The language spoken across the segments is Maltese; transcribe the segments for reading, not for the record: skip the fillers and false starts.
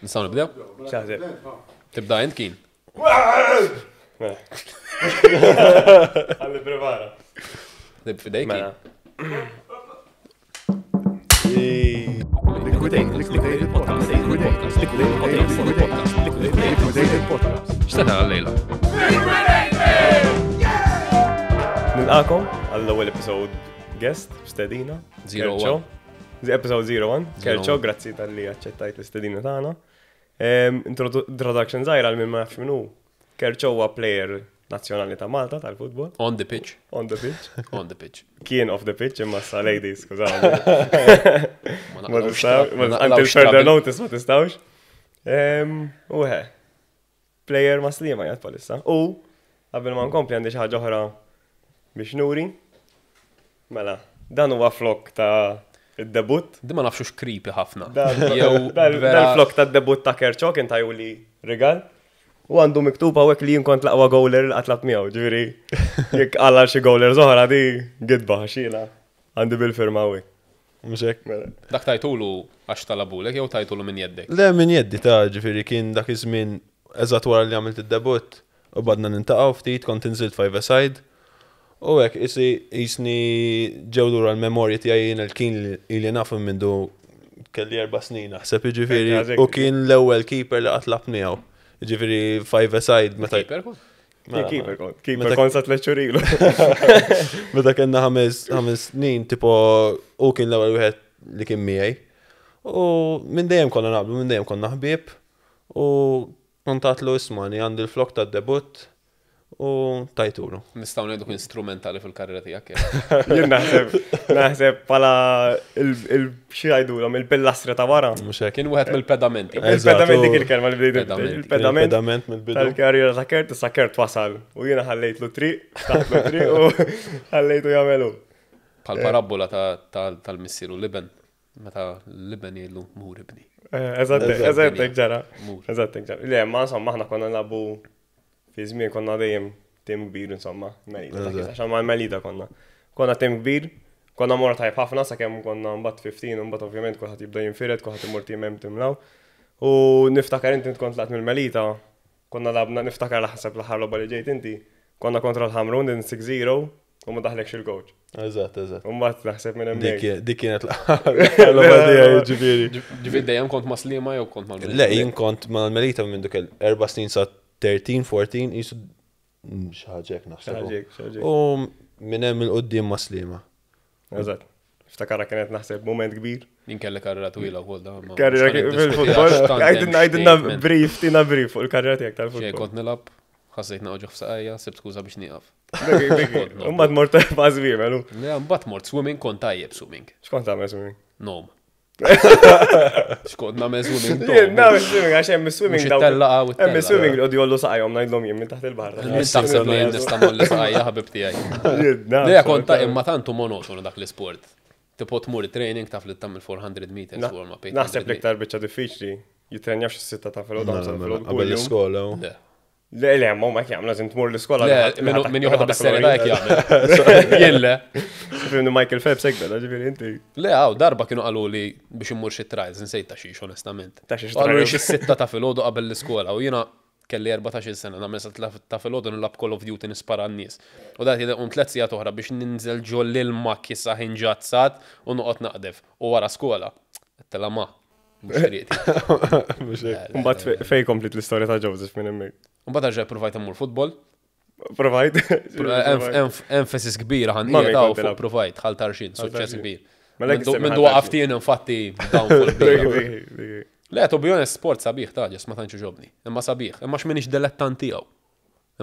Nistgħu nibdew? X'taħseb? Tibda int kien. Għalli prepara. Nib fidejk. Mela. X'se tara lejla? Nilqakom għall-ewwel episode guest stedina. 01. Episode 01. Kerċo, 01. grazzi tal-li aċċettajt l-istedina tagħna. Introduction żgħira għal min ma jafx min hu. Kerċo huwa player nazzjonali ta' Malta tal-futbol On the pitch. on the pitch. On the pitch. Kien off the pitch imma sa ladies, skużawni. Ma Ma naqlawx tistawx, tra- ma until naqlawx further trouble. notice ma tistawx. U he, player ma slima jgħat palissa. U, qabel ma nkompli għandi xi ħaġa oħra biex nuri. Mela, dan huwa flok ta' id-debut. Di ma nafxux creepy ħafna. Dan Jew dan- vera- dan flok ta' debut ta' Kerċo kien tajju li rigal. U għandu miktub hawnhekk li jien kont l-aqwa goaler li qatt labt miegħu, ġifieri jekk għalla xi goaler oħra di gidba xina. Għandi bil-firma hawnhekk. Mhux hekk. Mela. Dak tajtulu għax talabulek jew tajtulu minn jeddek. Le minn jeddi ta' ġifieri kien dak iż-żmien eżatt wara li għamilt id-debut u badna nintaqgħu ftit kont inżilt five aside. U hekk isi jisni ġew lura l-memorji tiegħi jien il-kien li ili nafu mindu kelli erba' snin naħseb jiġifieri Eżatt. u kien l-ewwel keeper li qatt lab miegħu. Jiġifieri five aside meta Keeper kont? Kien keeper kont, keeper Meta- kont sa tliet xhur ilu. Meta kellna ħames ħames snin, tipo, u kien l-ewwel wieħed li kien miegħi. U minn dejjem konna naqblu, minn dejjem konna ħbieb. U kontatlu ismani għandi l-flok tad-debut u tajtulu. Nistgħu ngħidu kien strumentali fil-karriera tiegħek. jew? Jien naħseb, naħseb pala xi jgħidulhom il-pillastra ta' wara. Mhux hekk. Kien wieħed mill-pedamenti. Eżatt, Il-pedament u- dik il-kelma li bdejt. Pedament. Il-pedament Il-pedament mill-bidu. tal-karriera ta' Kert, issa Kert wasal. U jiena ħallejtlu triq, taħtlu triq u ħallejtu jagħmelu. Bħal parabola ta- ta- tal-missier u l-iben. Meta l-iben jgħidlu mur ibni. Eh, Eżatt, Eżatt. eżatt hekk ġara. Mur. Eżatt hekk ġara. Le, ma insomma aħna konna nagħbu fi żmien konna dejjem tim kbir insomma, Melita. ta' kif, Eżatt. Għax ma' Melita konna. Konna tim kbir, konna mor tajb ħafna sakemm konna mbagħad 15 u mbagħad ovvjament kulħadd jibda jinfired, kulħadd imur tim hemm tim law. U niftakar inti kont laqt mill-Melita, konna labna niftakar laħseb l-aħħar logħba li ġejt inti, konna kontra l-Ħamrun din 6-0 u ma daħlekx il-coach. Eżatt, eżatt. U mbagħad naħseb minn hemmhekk. Dik dik kienet l-aħħar tiegħi ġifieri. Ġifieri dejjem kont ma' Sliema jew kont mal Le, jien kont mal-Melita minn dik erba' snin sa 13, 14, jisu xi ħaġa hekk naħseb. Xaġek, xaġek. U minn hemm il-qudiem ma' Sliema. Eżatt. Ftakara kienet naħseb moment kbir. Jien kelli karriera twila wkoll da. ma- Karriera mhux ħa fil-futbol. niddiskuti għax tant hemm Għajdinna għajdinna statement. brief, tina brief fuq il-karriera tiegħek Xejn tal-futbol. kont nilgħab, ħassejt naqgħu f'saqajja, sibt skuża biex nieqaf. Umma mort ma' żwiemel. Le, mbagħad mort swimming kont tajjeb swimming. X'kont tagħmel swimming? Nom. Xkont nagħmel swimming Jien tom. nagħmel swimming għax hemm swimming Mhux it-tellaqa u Hemm t-tellaqa. swimming li qogħdu jollu saqajhom ngħidlhom jien minn taħt il-baħar. Min taħseb li jien nista' molli saqajja ħabib tiegħi. Jien naf, Le kont ta' imma tantu monotonu dak l-isport. Tipo tmur training taf li tagħmel 400 meters warm up. 800 Naħseb l-iktar biċċa diffiċli jitrenjaw xi sitta ta' filgħodu Mela, ħamsa ta' mela, filgħodu Qabel kuljum. l-iskola. u- Le. Le, le, ma huma jagħmlu lazim tmur l-iskola. Le, min- min joħodha bis-serjetà jekk jagħmel. Jien le. Fimni Michael Phelps hekk beda, ġifieri inti. Le, għaw, darba kienu qalu li biex immur xi trials, nsejt ta' xiex, onestament. Ta' xiex Qalu li trials. xi sitta ta' filgħodu qabel l-iskola u jiena kelli 14 sena, nagħmel sa ta' filgħodu nilgħab Call of Duty nispara n-nies. U dat jidher tliet sigħat oħra biex ninżel ġol l-ilma kisa ħinġazzat u noqgħod naqdef. U wara skola, tela ma, mhux triqti. Mhux hekk. Mbagħad fej komplit l-istorja ta' Joseph minn hemmhekk. Mbagħad erġa' provajt immur futbol. Provajt. Emphasis kbira ħan Mami qiegħed kont fuq tilgħab. provajt ħal tarxin, suċċess tarxin. kbir. Mela jekk Mindu issemmi mindu ħal waqaf tarxin. tien infatti downfall kbira. Le, to be honest, sport sabiħ ta' ġes ma tantx ġobni. Imma sabiħ, imma x'minix dilettant tiegħu.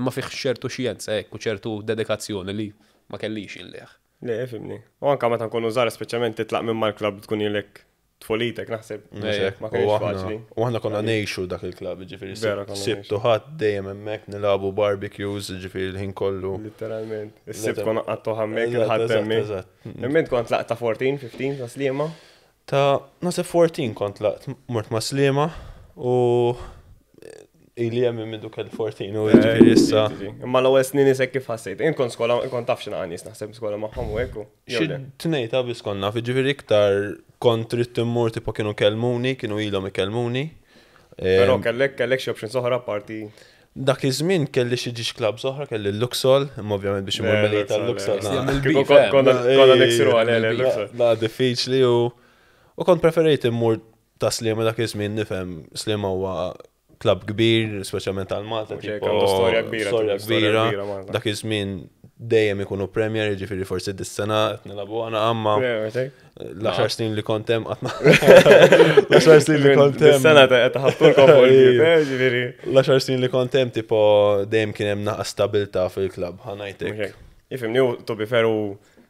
Imma fih ċertu xjenza hekk u ċertu dedikazzjoni li ma kellix inleħ. Le, fimni. U anka meta nkunu żgħar speċjalment titlaq minn mal-klabb tkun ilek tfolitek naħseb. Mhux hekk. Ma U kienx aħna- faċli. U aħna konna ngħixu dak il-klabb, ġifieri Vera konna sibtu ħadd dejjem hemmhekk nilagħbu barbecues, ġifieri l-ħin kollu. Literalment. Is-sibt Liter- konna qattu ħammek Eżatt, il-ħadd eżatt, hemmhekk. eżatt. Imma int kont tlaqt ta' 14, 15 ta' Sliema. Ta' naħseb 14 kont laqt mort ma' Sliema u ili hemm minn duk il-14 u ġifieri issa. Imma l-ewwel snin isek kif ħassejt. Int kont skola, kont taf x'inha nies naħseb skola magħhom u hekk. u- jew Xi le? tnejn ta' biss konna, ġifieri iktar kont trid immur tipo kienu kelmuni, kienu ilhom ikellmuni. Però kellek kellek xi options oħra parti. Dak iż-żmien kelli xi ġiex clubs oħra, kelli l-Luxol, imma ovvjament biex imur Melita l-Luxol. Konna niksiru għal Luxol. La diffiċli u u kont preferejt immur ta' Sliema dak iż-żmien nifhem Sliema huwa klabb kbir, speċjalment għal Malta. Storja kbira. Storja kbira. Dak iż-żmien dejjem ikunu Premier, jiġifieri forsi dis-sena qed nilagħbu għana għamma. L-10 snin li kont hemm qatt L-10 snin li kont hemm. Dis-sena qed ħaftulkom fuq il-ġifieri. Jiġifieri. L-10 snin li kont hemm tipo dejjem kien hemm naqas stabilta fil-klabb, ħa ngħidlek. Ifhimni, to be fair u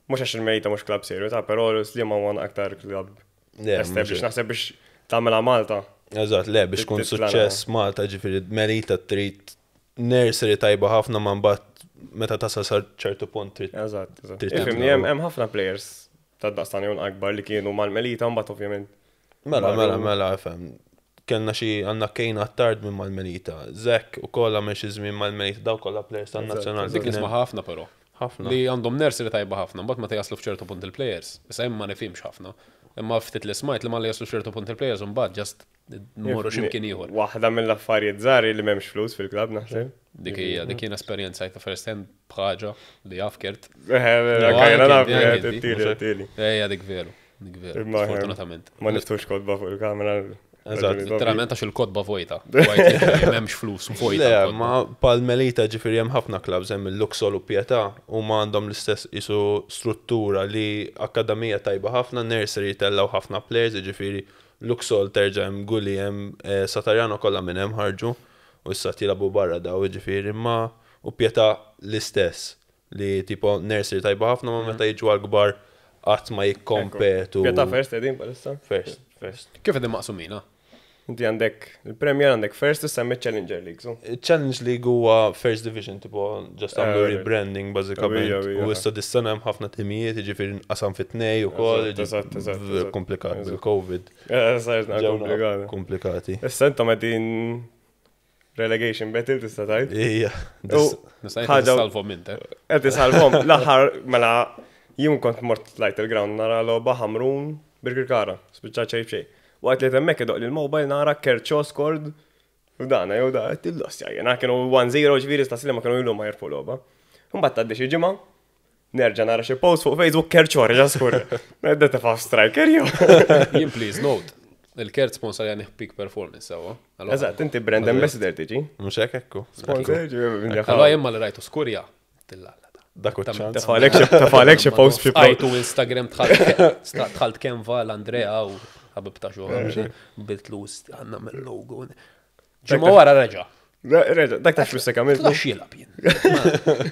mhux għax il-Mejta mhux klabb serju ta' però Sliema huwa aktar klabb established. Naħseb biex tagħmilha Malta. Eżatt, le biex tkun suċċess Malta ġifieri Melita trid nursery tajba ħafna ma mbagħad meta tasal sa ċertu punt trid. Eżatt, eżatt. Ifhimni hemm ħafna players ta' daqstan jew akbar li kienu mal-Melita mbagħad ovvjament. Mela, mela, mela, ifhem. Kellna xi għandna Kane Attard minn mal-Melita, Zek ukoll għamel xi żmien mal-Melita, daw kollha players tan-nazzjonal. Dik nisma' ħafna però. Ħafna. Li għandhom nursery tajba ħafna, mbagħad meta jaslu f'ċertu punt il-players. Issa jien ma nifhimx ħafna. Imma ftit li smajt li malli jaslu f'ċertu punt il-players imbagħad just morru x'imkien ieħor. Waħda mill-affarijiet żgħar li m'hemmx flus fil-klabb naħseb. Dik hija, dik jien esperjenzajta first hand b'ħaġa li jaf Kurt. Ejja dik veru, dik veru, sfortunatament. Ma niftux kotba fuq il-kamera. Eżatt. Literalment għax il-kotba vojta. M'hemmx flus vojta. Le, ma pal Melita ġifieri hemm ħafna clubs hemm il-Luxol u Pietà u ma għandhom l-istess isu struttura li akademija tajba ħafna, nursery tellgħu ħafna players, ġifieri Luxol terġa' hemm Gulli hemm eh, Satarjano kollha minn hemm ħarġu u issa jilagħbu barra daw ġifieri ma u Pietà l-istess li tipo nursery tajba ħafna ma meta jiġu għal-kbar qatt ma jikkompetu. Pietà first qegħdin bħalissa? First, first. Kif qegħdin maqsumina? Inti għandek il-Premier għandek first issa hemm Challenger League. So. Challenge League huwa first division tipo just għamlu Eh, rebranding bażikament. Ija, ija. U issa dis-sena hemm ħafna timijiet, jiġifieri nqasam fit-tnej ukoll, Eżatt, eżatt, eżatt, eżatt. komplikat Eżatt. bil-Covid. Eh, Sajna Ġewna komplikata. Komplikati. Issa intom qegħdin relegation battle tista' tgħid. Ija. U Nista' Ħaġa- salvom int, eh? Qed isalvom l-aħħar mela jien kont mort tlajt il-ground nara logħba Ħamrun Birkirkara, spiċċa xejn b'xejn. Waqt li hemmhekk idoq li l-mobile nara Kerċo scored u dana jew da qed il-loss jena kienu 1-0 ġifieri sta ma kienu ilu ma jirfu logħba. Imbagħad tgħaddi xi ġimgħa nerġa' nara xi post fuq Facebook Kerċo reġa' skur. Nedda tefa' striker jew. Jien please note, il-Kert sponsor jani peak performance sewa. Allora- Eżatt, inti brand ambassador tiġi. Mhux hekk ekku. Sponsor ġifieri. Allora jien ma li rajtu skurja. Tillalla. Dak u ċans. Tefalek xi post xi post. Għajtu Instagram tħalt Kenva l-Andrea u ħabib ta' xogħol. Bitlus għandna mill-logo. Ġimgħa wara reġa'. Reġa, dak ta' flus għamilt. Tlax jilab jien.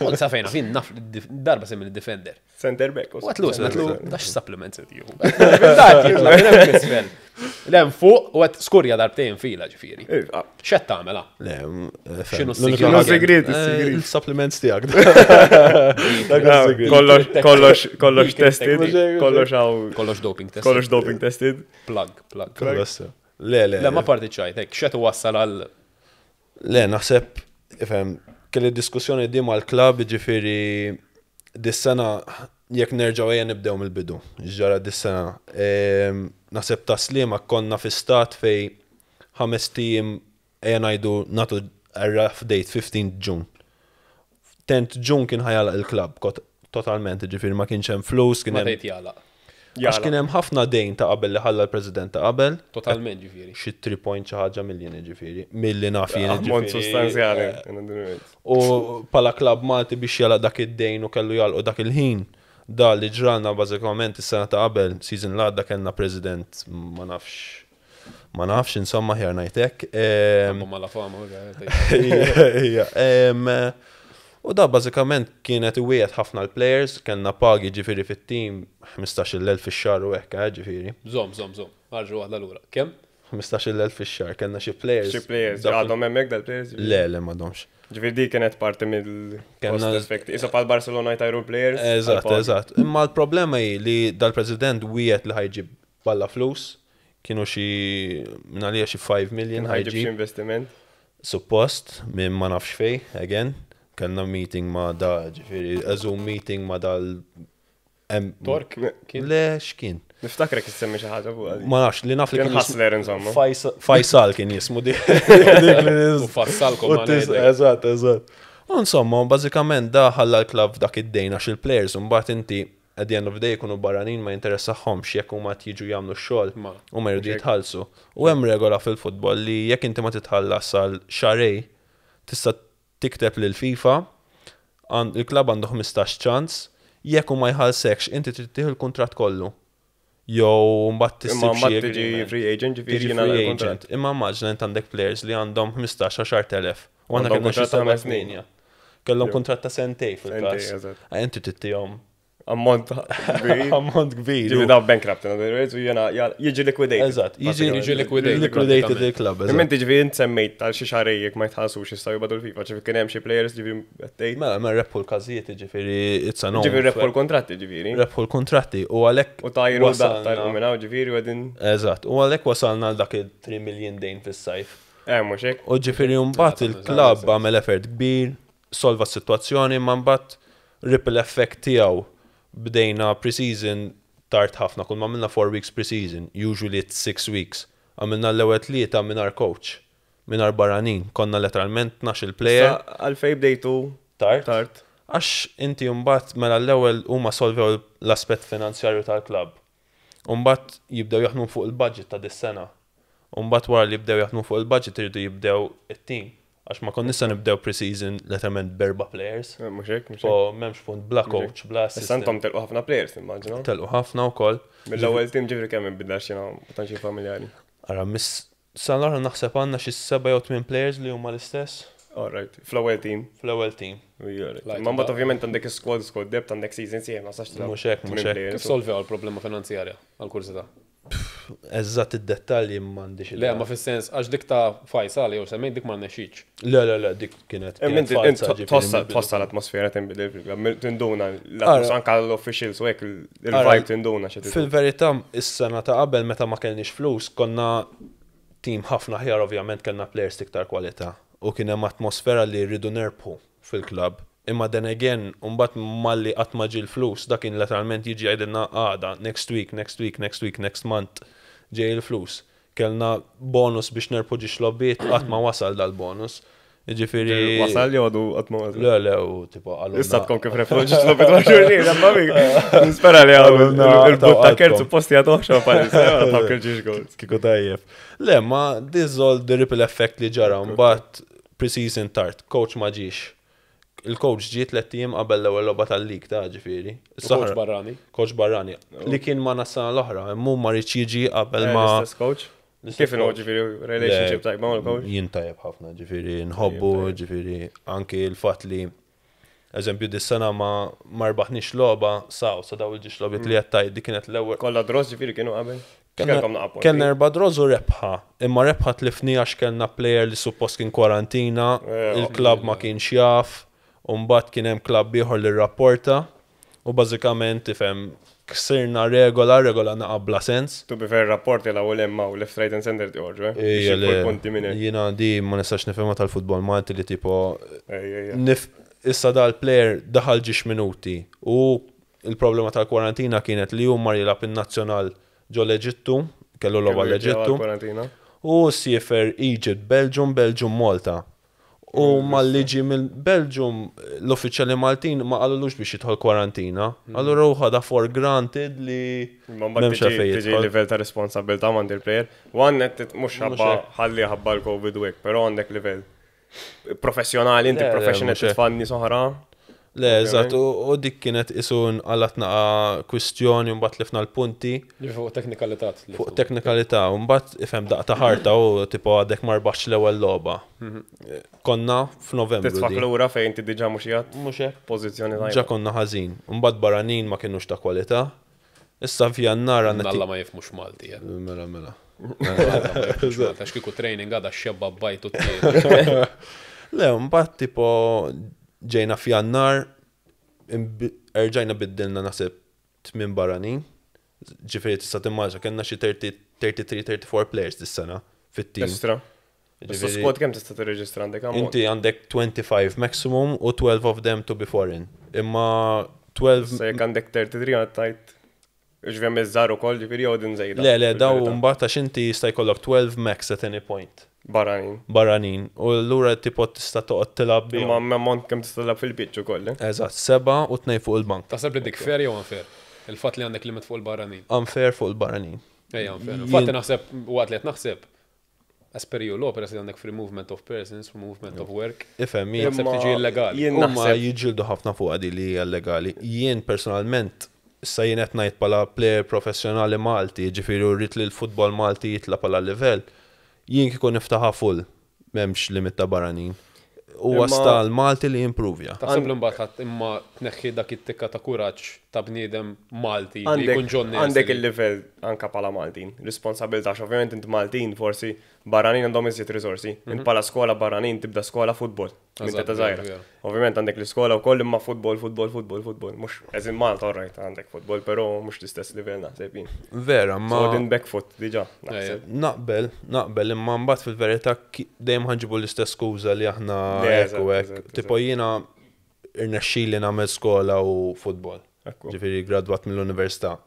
Kont sa fejna fin naf darba semmi l-defender. Center back. U għatlu, għatlu, dax supplements qed jieħu. Dak jitla' minn hemm isfel. Lem fuq u għat skurja darbtejn fila ġifieri. X'qed tagħmel ah? Le, X'inhu l-unika s-sigriet? ħaġa- Sigriet, Eh, is-sigriet. Il-supplements tiegħek. Dak is-sigriet. Kollox, kollox, kollox tested, Mhux hekk, kollox għaw, Kollox doping test. kollox doping tested. Plug, plug. Kollox. Le, le. Le, ma parti ċajt, hekk, x'qed wassal għal Le, naħseb, ifhem, kelli diskussjoni di mal-klab, ġifiri, dis-sena, jekk nerġaw ejja nibdew mill-bidu, ġara dis-sena. Ehm, Naħseb ta' Sliema konna fi stat fej ħames tim ejja ngħidu natu a rough date 15 June. 10 June kien ħajalaq il-klab totalment, ġifiri ma kienx hemm flus, kien ma hemm tgħid jagħlaq. għax kien hemm ħafna dejn ta' qabel li ħalla l-president ta' qabel, Totalment ġifieri. xi 3 point xi ħaġa miljon ġifieri, milli naf jien Ammont ġifieri. sostanzjali. U pala klab Malti biex jalaq dak id-dejn u kellu jalqu dak il-ħin. Da li ġralna bażikament is-sena ta' qabel, season l-għadda kellna president ma nafx ma nafx insomma ħjar ngħidlek. Ehm, Ma la fama. Ija, em, U da bażikament kienet iwiegħed ħafna l-players, kellna pagi ġifieri fit-team 15,000 fix-xahar u hekk, eh, ġifieri. Zom, zom, zom. Marġu waħda lura. Kemm? 15,000 fix-xahar kellna xi players. Xi players, Dak- għadhom hemmhekk dal-players. Le, le m'għadhomx. Ġifieri di kienet parti mill Kellna- cost effect. Isa pal Barcelona jtajru players. Eżatt, għal-pagi. eżatt. Imma l-problema hi li dal-president wiegħed li ħajġib balla flus, kienu xi minn għalija xi 5 million Kien ħajġib xi ħajġib investiment. suppost minn ma nafx fej, again. Kellna meeting ma da, ġifieri, a Zoom meeting ma dal Tork? Kien? Le, x'kien? Niftakrek issemmi xi ħaġa fuq għadi. Ma nafx, li naf li Kien kien jismu- hustler insomma. Faisal kien jismu dik. dik li U fassalkom U ma tis- ngħidlek. Eżatt, eżatt. U insomma, bażikament da ħalla l-klabb dak id-dejn għax il-players u mbagħad inti at the end of the day jkunu barranin ma jinteressahomx jekk huma qed jiġu jagħmlu x-xogħol Ma. u ma jridu jitħallsu. U hemm regola fil-futbol li jekk inti ma titħallas għal xarej tista' tikteb lil FIFA il-klabb għandu 15 ċans, jekk hu ma jħallsekx inti trid tieħu l-kuntratt kollu. Jew mbagħad Imma tissib xi mbagħad tiġi agreement. free agent, ġifieri Tiġi jiena free l-kuntratt. agent. Imma immaġna int għandek players li għandhom 15-10,000. U għandna Għandhom kellna xi kuntratt ta' seba' ħames snin. tminja. Kellhom Jew. kuntratt ta' sentej fil-każ. Sentej, eżatt. Inti tittihom Ammont kbir. ammont kbir. Ġifieri daw bankrupt, in other words, u jiena jiġi liquidated. Eżatt, jiġi Jiġi liquidated, liquidated pratikament. il-club. Imma Eżatt. inti ġifieri int semmejt tal xi xarej jekk ma jitħallsux jistgħu jibgħatu l-FIFA, ġifieri kien hemm xi players ġifieri qed tgħid. Mela, mela rebħu l-każijiet, ġifieri it's a no. Ġifieri rebħu l-kontratti ġifieri. Rebħu l-kontratti u għalhekk U tajru da wasalna- tajru minn hawn ġifieri u qegħdin Eżatt, u għalhekk wasalna għal dak il-3 million dejn fis-sajf. eh mhux hekk. U ġifieri mbagħad il-klabb għamel effort kbir, solva s-sitwazzjoni, ma mbagħad ripple effect tiegħu bdejna pre-season tard ħafna, kull ma għamilna 4 weeks pre-season, usually it's 6 weeks. Għamilna l-ewwel tlieta mingħajr coach, mingħajr barranin, konna letteralment 12 player Sa għalfej bdejtu tard. tard. Għax inti mbagħad mela l-ewwel huma solvew l-aspett finanzjarju tal-klabb. Mbagħad jibdew jaħdmu fuq il-budget ta' dis-sena. Mbagħad wara li jibdew jaħdmu fuq il-budget iridu jibdew it-team. Għax ma konna nista' nibdew pre-season letteralment berba players. Eh, Mhux hekk, mhux hekk. Po m'hemmx punt bla coach, bla Issa assistant. intom telqu ħafna players immaġina. Telqu ħafna wkoll. Mill-ewwel team ġifieri kemm inbidla xi ma tantx familjari. Ara miss san l-oħra naħseb għandna xi seba' jew tmien players li huma l-istess All right, fl-ewwel team. fl-ewwel team. Alright. Like Ma mbagħad that. ovvjament għandek squad, squad depth, għandek season sieħ, ma sax tilgħab Mhux hekk, mhux tmien hekk. players. Kif solvew l-problema finanzjarja għal-kursita? Eżatt id-dettalji m'għandix Le, idea. ma fis-sens, għax dik ta' Faisal jew semmejt dik ma rnexxitx. Le, le, le, dik kienet. Imma kienet inti falsa, int ġifieri tossa mill-bidu. tossa l-atmosfera tinbidel fil-klabb, tinduna l-atmosfera anke l-officials u hekk Ara, il-vibe tinduna xi trid. Fil-verità, is-sena ta' qabel meta ma kellniex flus, konna tim ħafna ħjar ovvjament kellna players iktar kwalità u kien hemm atmosfera li rridu nerbħu fil-klabb. Imma then again, mbagħad malli qatt ma ġie l-flus, dak kien letteralment jiġi jgħidilna għada, next week, next week, next week, next month, ġej il-flus. Kellna bonus biex nerbħu ġiex lobbiet, qatt ma wasal dal-bonus. Jiġifieri. Wasal jew għadu qatt ma wasal. Le, le, u tipo għalunna. Issa tkun kif rebħu ġiex lobbiet ma' xulxin, imma mik. Nispera li għadu Għalunna, il-but ta' kert tawqatkom. supposti għadu oħxo palissa, ta' kil ġiex goals. Kieku tajjeb. Le, ma this is all the ripple effect li ġara, mbagħad pre-season tard, coach ma ġiex. Il-coach ġie tliet ijiem qabel l-ewwel logħba tal-lig ta' ġifieri. Coach Is-Sahra- barrani. Coach barrani. Li kien ma nas-sena l-oħra, immu ma rridx jiġi qabel ma. Eh, L-istess coach? L-istess Kif inhu coach. ġifieri relationship Le, tajba mal-coach? Jien tajjeb ħafna, ġifieri nħobbu, ġifieri anki l-fatt li eżempju dis-sena ma ma rbaħniex logħba saw sa daw il-ġiex logħbiet li qed tgħid dik kienet l-ewwel Kollha dross ġifieri kienu qabel. Kellna- Kellkom naqa' punti. Kellna erba' draws u rebħa, imma rebħa tlifni għax kellna player li suppost kien kwarantina, Eh, il-klabb ma kienx jaf, u mbagħad kien hemm klabb ieħor li rrapporta, u bażikament tifhem ksirna regola, regola naqa' bla sens. To be fair, rapporti la u lemma u left, right and center joħorġu, eh? Ejja, Biex le, jieħu punti minn hekk. Jiena di ma nistax nifhimha tal-futbol Malti li tipo Ejja, ejja. nif issa dal-player daħal ġiex minuti u il-problema tal-kwarantina kienet li hu mar jilgħab in-nazzjonal ġo l-Eġittu, kellu logħba Kellu jirġgħu l-Eġittu. għall-kwarantina. U siefer Egypt, Belgium, Belgium, Malta. U mal-liġi mill-Belgium, l-uffiċjali Maltin ma qalulux biex jidħol kwarantina. Allura u ħada for granted li Imma mbagħad m'hemmx għalfejn tiġi tiġi jidħol. livell ta' responsabilità m'għand il-player. U għandek mhux ħabba hekk. ħalli ħabba l-COVID u hekk, però għandek livell professjonali, inti Le, le, professional mhux hekk. titfa' nies oħra. Le, eżatt, u dik kienet isu nqalat naqa kwistjoni u mbagħad tlifna l-punti Ġifieri Fuq teknikalità. fuq teknikalità u mbagħad ifhem daqta ħarta u tipo għadek ma rbaħx l-ewwel logħba. Konna f'Novembru. Titfak di. lura fejn inti diġà mhux qiegħed Mhux hekk. pożizzjoni Ġa tajba. konna ħażin. Mbagħad barranin ma kienux ta' kwalità. Issa f'Jannar għandna Alla ma jifmux Malti. eh. Mela, mela. Alla ma jifmux Malti, Għax kieku training għada xebba bajtu t Le, mbagħad tipo ġejna f'Jannar, erġajna biddilna naħseb tmien barranin. Ġifieri tista' timmaġa kellna xi 33-34 players dis-sena fit-team. Estra. Issa Ġifieri, squad kemm tista' tirreġistra għandek ammont? Inti għandek 25 maximum u 12 of them to be foreign. Imma 12 Issa jekk għandek 33 għad tajt Ġifieri hemm iż-żgħar ukoll, ġifieri jew din żejda. Le, le, daw mbagħad għax inti jista' jkollok 12 max at any point. Barranin. Barranin. U allura tipo tista' toqgħod tilgħab bihom. Imma ammont kemm tista' tilgħab fil-pitch ukoll, eh? Eżatt, seba' u tnejn fuq il-bank. Taħseb li dik fair jew unfair? Il-fatt li għandek limit fuq il-barranin. Unfair fuq il-barranin. Ejja, unfair. Infatti naħseb, waqt li qed naħseb, as per EU law, peress li għandek free movement of persons, free movement of work. Ifhem, jien Naħseb tiġi illegali. Jien Huma naħseb jiġġieldu ħafna fuq di li hija illegali. Jien personalment, issa jien qed ngħid bħala player professjonali Malti, jiġifieri u rrid li l-futbol Malti jitla' bħala livell, jien kieku niftaħha full, m'hemmx limit ta' barranin. Huwa Imma sta l-Malti li jimprovja. Taħseb li mbagħad ħadd imma tneħħi dak it-tikka ta' kuraġġ ta' bniedem Malti li Għandek jkun ġon għandek il-livell anka bħala Maltin, responsabilità, għax ovvjament int Maltin forsi barranin għandhom iżjed riżorsi. Int bħala skola barranin tibda skola futbol minn Eżatt, teta vera, żgħira. vera. Ovvjament għandek l-iskola wkoll imma futbol, futbol, futbol, futbol. Mhux as in Malta alright għandek futbol, però mhux l-istess livell naħseb jien. Vera, ma So din back foot diġà naħseb. naqbel, naqbel, imma mbagħad fil-verità dejjem ħanġibu l-istess skuża li aħna Le, hekk u eżatt, hekk. eżatt, Tipo jiena irnexxieli nagħmel skola u futbol. Ekku. Ġifieri gradwat mill-università.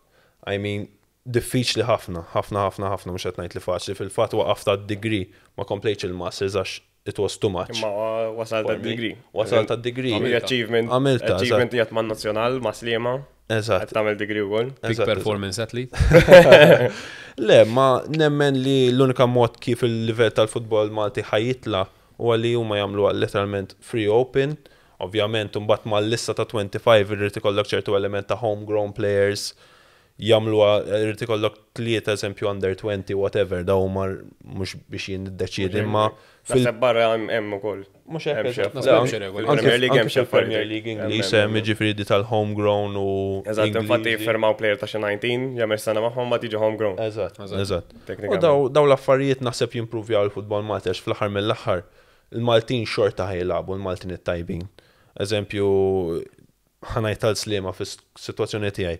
I mean, diffiċli ħafna, ħafna, ħafna, ħafna, mhux qed ngħid li faċli. Fil-fatt waqaft għad-degree, ma komplejtx il-masters għax it was too much. Imma wasalt For me. għad-degree. Wasalt għad-degree. Għamil achievement. Għamilta, Achievement jgħat man nazzjonal, ma Sliema. Eżatt. Qed tagħmel degree wkoll. Peak eżatt, eżatt. performance athlete. Le, ma nemmen li l-unika mod kif il-livell tal-futbol Malti ħajitla huwa li huma jagħmlu literalment free open. Ovvjament, mbagħad mal-lista ta' 25 irrid ikollok ċertu element ta' homegrown players jagħmlu irrid ikollok tlieta eżempju under 20 whatever daw huma mhux biex jien niddeċiedi imma fil Naħseb barra hemm hemm ukoll. Mhux hekk Hemm xi eżatt. Naħseb hemm xi regoli. Anke Premier League hemm anke xi fil-Premier affarijiet. League Hemm, Ingliż hemm, hemm jiġifieri di tal-homegrown u Eżatt, infatti Ingliżi. firmaw player ta' xi 19, jagħmel sena magħhom ma tiġi homegrown. Eżatt, Eżatt. eżatt. U Teknikament. daw l-affarijiet naħseb jimprovjaw il-futbol Malti għax fl-aħħar mill-aħħar il-Maltin xorta ħajlabu, il-Maltin it-tajbin. Eżempju, ħanajt tal-Sliema fis-sitwazzjoni tiegħi.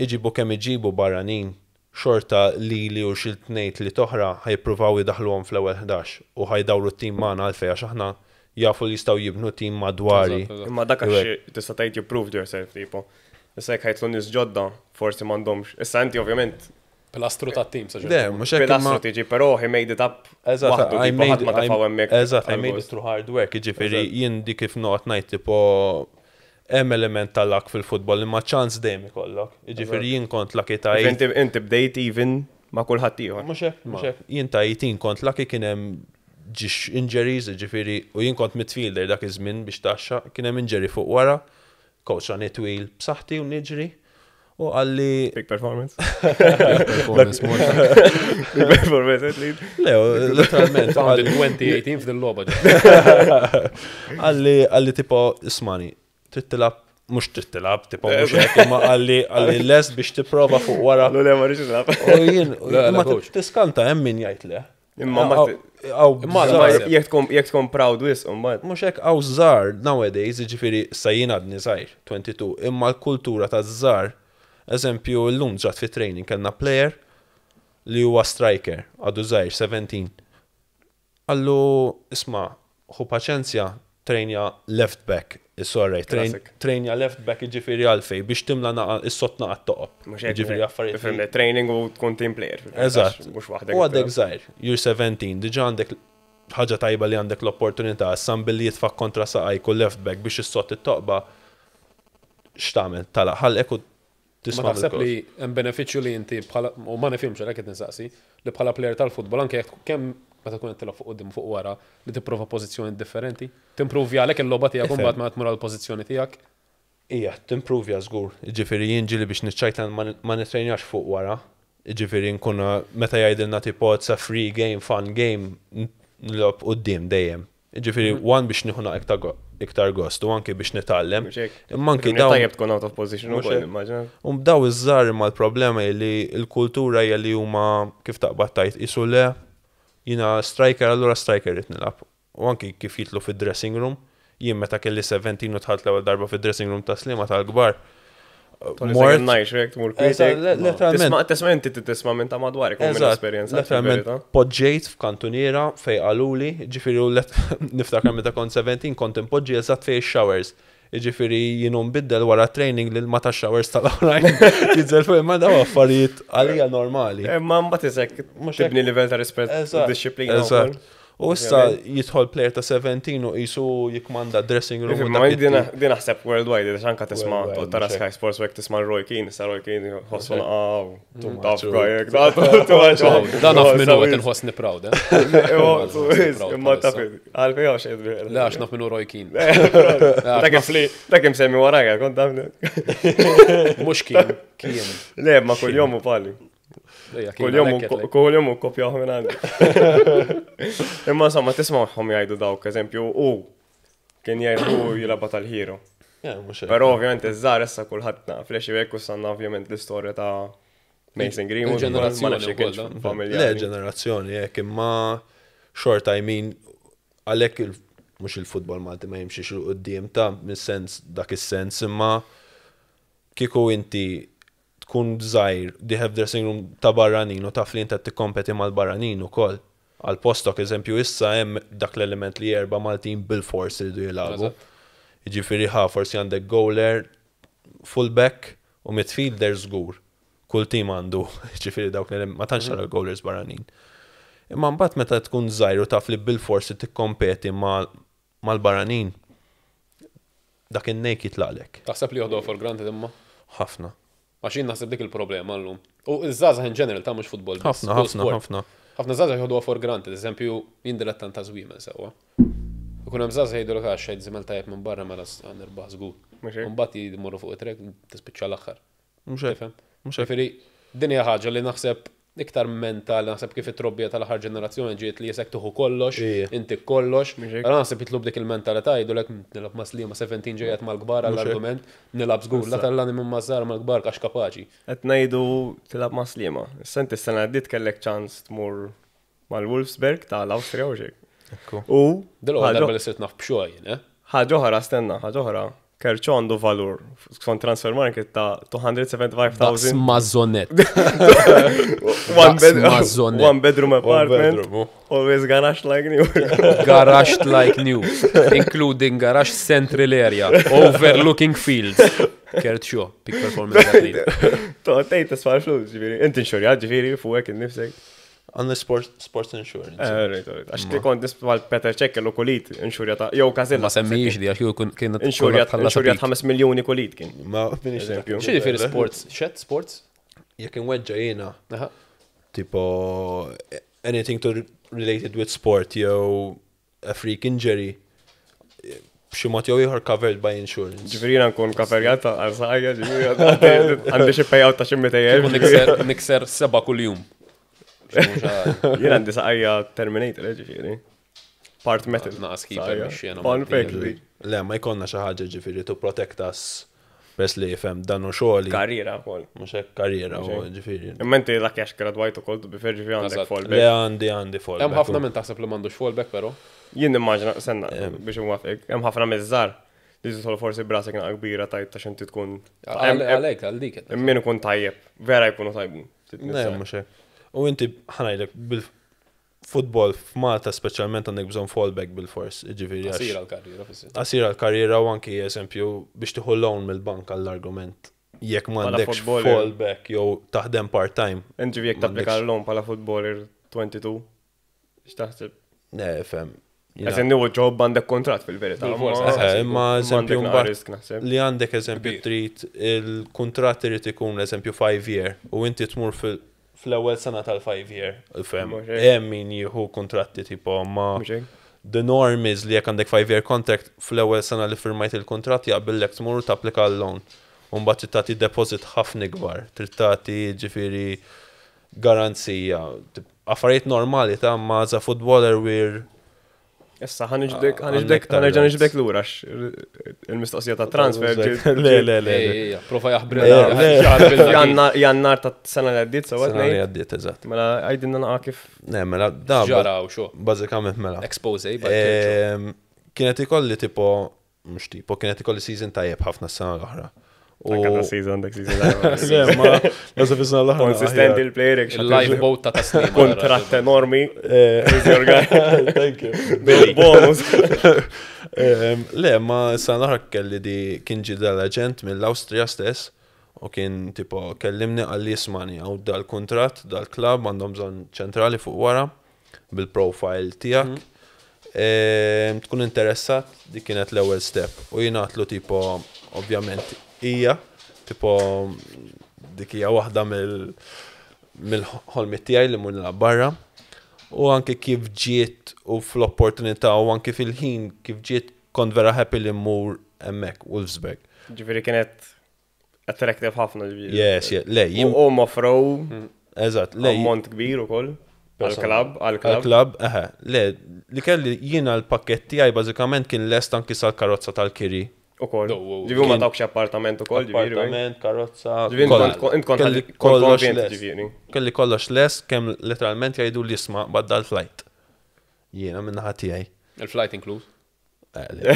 Iġibu kemm iġibu barranin, xorta li li u xi tnejn li toħra ħajpruvaw jidaħluhom fl-ewwel 11 u ħajdawru t-tim magħna għalfejn għax aħna jafu li jistgħu jibnu tim madwari. Eżatt, eżatt. Imma dak għax tista' tgħid you proved yourself tipo. Issa jekk ħajtlu nies ġodda, forsi m'għandhomx. Issa inti ovvjament Pilastru ta' tim sa' Le, mhux hekk imma pilastru tiġi, però he made it up. Eżatt, waħdu, I tipo, made, ħadd ma tefgħu hemmhekk eżatt, I made it għall-gost. through hard work, jiġifieri jien di kif noqgħod ngħid tipo hemm element tal-luck fil-futbol imma ċans dejjem ikollok. Jiġifieri jien kont lucky ta' Inti inti bdejt even ma' kulħadd ieħor. Mhux hekk, mhux hekk. Jien ta' 18 kont lucky kien hemm ġiex injuries, jiġifieri u jien kont midfielder dak iż-żmien biex taxxa, kien hemm injury fuq wara, coach għani twil b'saħħti u niġri u qalli Big performance. Performance Malta. Big performance athlete. le, literalment Founded qalli- 2018 f'dil logħba. Għalli, għalli tipo, ismani, trid tilab, mux trid tilab, tipo, mux hekk, imma għalli, għalli lest biex tipprova fuq wara. Allu le ma rridx nilgħab. U jien, Le, le, imma coach. tiskanta hemm min jgħid le. Imma ma Għaw, Imma żgħar- naħseb- Jekk tkun jekk tkun proud wisq imbagħad. mux hekk għaw żgħar nowadays, jiġifieri sa jien għadni żgħir, 22, imma l-kultura ta' żgħar, eżempju, llum ġat fi training kellna player li huwa striker, għadu żgħir, 17. Għallu, isma, ħu paċenzja, trejnja left back, sorry, Classic. trejnja left back jiġifieri għalfej biex timla naqa is-sott naqa toqob. Mhux hekk. Jiġifieri affarijiet. li- Ifhimni, training u tkun team player. Eżatt. Mhux waħdek. U għadek żgħir, you're 17, diġà għandek ħaġa tajba li għandek l-opportunità, sam billi jitfak kontra saqajk u left back biex is-sott it-toqba x'tagħmel tala ħalqek u Ma tisma' taħseb mill-coach. li hemm benefiċċju li inti bħala u ma nifhimx għalhekk qed nistaqsi li bħala player tal-futbol anke jekk kemm meta tkun qed tilgħab fuq quddiem fuq wara li tipprova pożizzjoni differenti, timprovja għalhekk il-logħba tiegħek Ifhem. imbagħad ma tmur għall pożizzjoni tiegħek. Ija, timprovja żgur. Jiġifieri jien ġieli biex niċċajta ma ma nitrejnax fuq wara. Jiġifieri nkun meta jgħidilna tipo it's a free game, fun game, nilgħob quddiem dejjem. Jiġifieri one biex nieħu naqra iktar go- iktar gost u anke biex nitgħallem. Mhux hekk. Imma anke Ifhimni, dawn Tajjeb tkun out of position Mhux ukoll, hekk. immaġina. U b'daw iż-żar imma l-problema hi li l-kultura hija li huma kif taqbad tajt isu le jiena striker allura striker rid nilgħab. U anki kif jitlu fid-dressing room, jien meta kelli 17 u dħalt l-ewwel darba fid-dressing room ta' Sliema tal-kbar. Mort. Najx, jekk tmur Eżatt, kwitek. letteralment. Tisma' tisma' inti tisma' minn ta' madwarek u minn Eżatt, esperjenza. letteralment poġġejt f'kantuniera fej qaluli, ġifieri u niftakar meta kont 17 kont impoġġi eżatt fej showers. Jiġifieri jien nbiddel wara training lil ma ta' showers tal-oħrajn. Jinżel fuq imma daw affarijiet għalija normali. Imma mbagħad isek tibni livell ta' rispett u dixxiplina. Eżatt. U issa jidħol player ta' 17 u qisu jikmanda dressing room. Ma din naħseb worldwide, għax anka tisma' tara Sky Sports u hekk tisma' Roy Keane, issa Roy Keane ħossu naqaw. Taf gajek, Dan naf minnu qed inħossni proud, eh? Imma taf, għalfej għax Le, għax naf minnu Roy Keane. Dak imsemmi warajja, kont taf. Mhux kien, kien. Le, ma kull-jom u pali. Kull-jom u kopjaw minn għandi. Imma insomma, tismagħhom jgħidu dawk, eżempju, u kien jgħidu jilaba tal-hero. Però ovvjament iż-żgħar issa kulħadd naf li xi hekk u sanna ovvjament l-istorja ta' Mason Greenwood. Il-ġenerazzjoni wkoll. Le, ġenerazzjoni hekk imma xorta I mean għalhekk mhux il-futbol Malti ma jimxiex 'il quddiem ta' mis-sens dak is-sens imma kieku inti tkun żgħir dieħel f'dressing room ta' barranin u taf li inti qed tikkompeti mal-barranin ukoll għal postok, eżempju issa hemm dak l-element li erba' Maltin bilfors iridu jilagħbu. Jiġifieri ħa forsi għandek goaler, full-back u midfielder żgur. Kull tim għandu, jiġifieri dawk l ma tantx tara goalers barranin. Imma mbagħad meta tkun żgħir u taf li bilfors trid tikkompeti mal-barranin, dak in-nejk jitlaqlek. Taħseb li joħduha for granted imma? Ħafna. Għax jien naħseb dik il-problema llum. U ż-żgħażagħ in general ta' mhux futbol biss. Ħafna, ħafna, ħafna. Ħafna żgħażagħ joħduha for granted, eżempju, jien dilettant ta' żwiemel sewwa. Ikun hemm żgħażagħ jgħidulek għax xejn żiemel tajjeb minn barra mela nirbaħ żgur. Mbagħad jmorru fuq it-trek tispiċċa l-aħħar. Mhux hekk. Mhux hekk. Ġifieri din hija ħaġa li naħseb iktar mentali, naħseb kif it-trobbija tal-aħħar ġenerazzjoni ġiet li jesek tuħu kollox, inti kollox. Allora naħseb jitlu b'dik il-mentalità jgħidulek nilgħab ma' Sliema 17 ġejjed mal-kbar għall-argument, nilgħab żgur, la tellani minn maż-żgħar mal-kbar għax kapaċi. Qed ngħidu tilgħab ma' Sliema. Issa inti s-sena għaddiet kellek ċans tmur mal-Wolfsberg tal-Awstrija u xejn. U Dil-ewwel darba li sirt naf b'xogħol jien, eh? Ħaġa oħra, stenna, ħaġa oħra. Kerċo għandu valur skont transfer market ta' 275,000. Daqs mażonet. One bedroom apartment. Always garage like new. Garage like new. Including garage central area. Overlooking fields. Kerċo, peak performance athlete. Toqgħod tgħid tisfa' flus, ġifieri. Inti inxurjat ġifieri fuqek innifsek. Għandna sports insurance. Eh, right, right. Għax ti kont nisbal Peter Cech kellu kulit inxurja ta' jew Kazilla. Ma semmijiex di għax jew kien inxurja 5 miljuni kulit kien. Ma minix eżempju. X'jiġifieri sports? Xed sports? Jekk inweġġa jiena. Tipo anything to related with sport jew a freak injury b'xi mod jew ieħor covered by insurance. Ġifieri jiena nkun coverjat għal saqajja, ġifieri għandi xi payout ta' xi 200,000. Nikser seba' kuljum. Jien għandi saqajja Terminator, eh, ġifieri. Part metal. Naqas keeper mix-xena. Fun fact. Le, ma jkollna xi ħaġa ġifieri to protect us Peress li jifhem dan u xogħli. Karriera wkoll. Mhux hekk karriera u ġifieri. Imma inti dak għax gradwajt ukoll to be fair ġifieri għandek fallback. Le għandi għandi fallback. Hemm ħafna minn taħseb li m'għandux fallback però. Jien nimmaġina senna biex inwafqek, hemm ħafna miż-żgħar li tidħol forsi brasek naqa kbira tajt ta' xinti tkun. Għalhekk għal dik. Min ikun tajjeb, vera jkunu tajbin. Le mhux hekk. U inti ħanajdlek bil Futbol f'Malta speċjalment għandek bżonn fallback bilfors, jiġifieri għax. Qasira l-karriera fis-sens. Qasira l-karriera u anki eżempju biex tieħu loan mill-bank għall-argument jekk m'għandekx fallback jew taħdem part-time. Int ġifieri jekk tapplika l-loan bħala footballer 22, x'taħseb? Le, fhem. As in new job għandek kuntratt fil-verità. Imma eżempju mbagħad li għandek eżempju trid il-kuntratt irid ikun eżempju 5 year u inti tmur fil fl-ewwel sena tal-five year, fem, hemm min jieħu kuntratti tipo ma the norm is li jekk għandek five year contract fl-ewwel sena li firmajt il-kuntratt jaqbillek tmur u tapplika għal-loan. U mbagħad trid tagħti deposit ħafna ikbar, trid tagħti ġifieri garanzija. Affarijiet normali ta' ma as a footballer we're Issa, ħanġdek, ħanġdek, ħanerġa' niġbdek lura il-mistoqsija ta' transfer. Le, le, le. Prova jaħbri. Jannar ta' sena li għaddiet, sewa. Sena li għaddiet, eżatt. Mela, għajdinna naqa kif. Ne, mela, da. Ġara u xo. Bażikament mela. Expose, Kienet ikolli tipo, mhux tipo, kienet ikolli season tajjeb ħafna s-sena l-oħra. U season, dak season. Le, ma, naħseb is-sena l-oħra. Konsistenti il-player, Il-lifeboat ta' taslim. Kontratt enormi. He's your guy. Thank you. Bonus. Le, ma sa l-oħra kelli di kien ġie dal-aġent mill-Awstrija stess u kien tipo kellimni qalli ismani hawn dal-kuntratt, dal-klabb għandhom bżonn ċentrali fuq wara bil-profile tiegħek. Tkun interessat, dik kienet l-ewwel step. U jien għatlu tipo ovvjament hija tipo dik hija waħda mill mill-ħolmiet tiegħi li mmur nilgħab barra. U anke kif ġiet u fl-opportunità u anke fil-ħin kif ġiet kont vera happy li mmur hemmhekk Wolfsburg. Ġifieri kienet attractive ħafna ġifieri. Yes, yeah. Le, jien U offrow eżatt, le ammont kbir ukoll għal-klabb, għal-klabb. Għal-klabb, eħe, le, li kelli jiena l-pakket tiegħi bażikament kien lest anki sal-karozza tal-kiri. Ukoll. No, wow. Ġifieri ma Kien- tawkx appartament ukoll, ġifieri. Appartament, karozza. Ġifieri kollha. int kont int kont Kelli kont kollox konvint lest. ġifieri. Kelli kollox lest kemm literalment jgħidu li isma' badda l-flight. Jiena min-naħa tiegħi. Il-flight inkluż. Eh, le.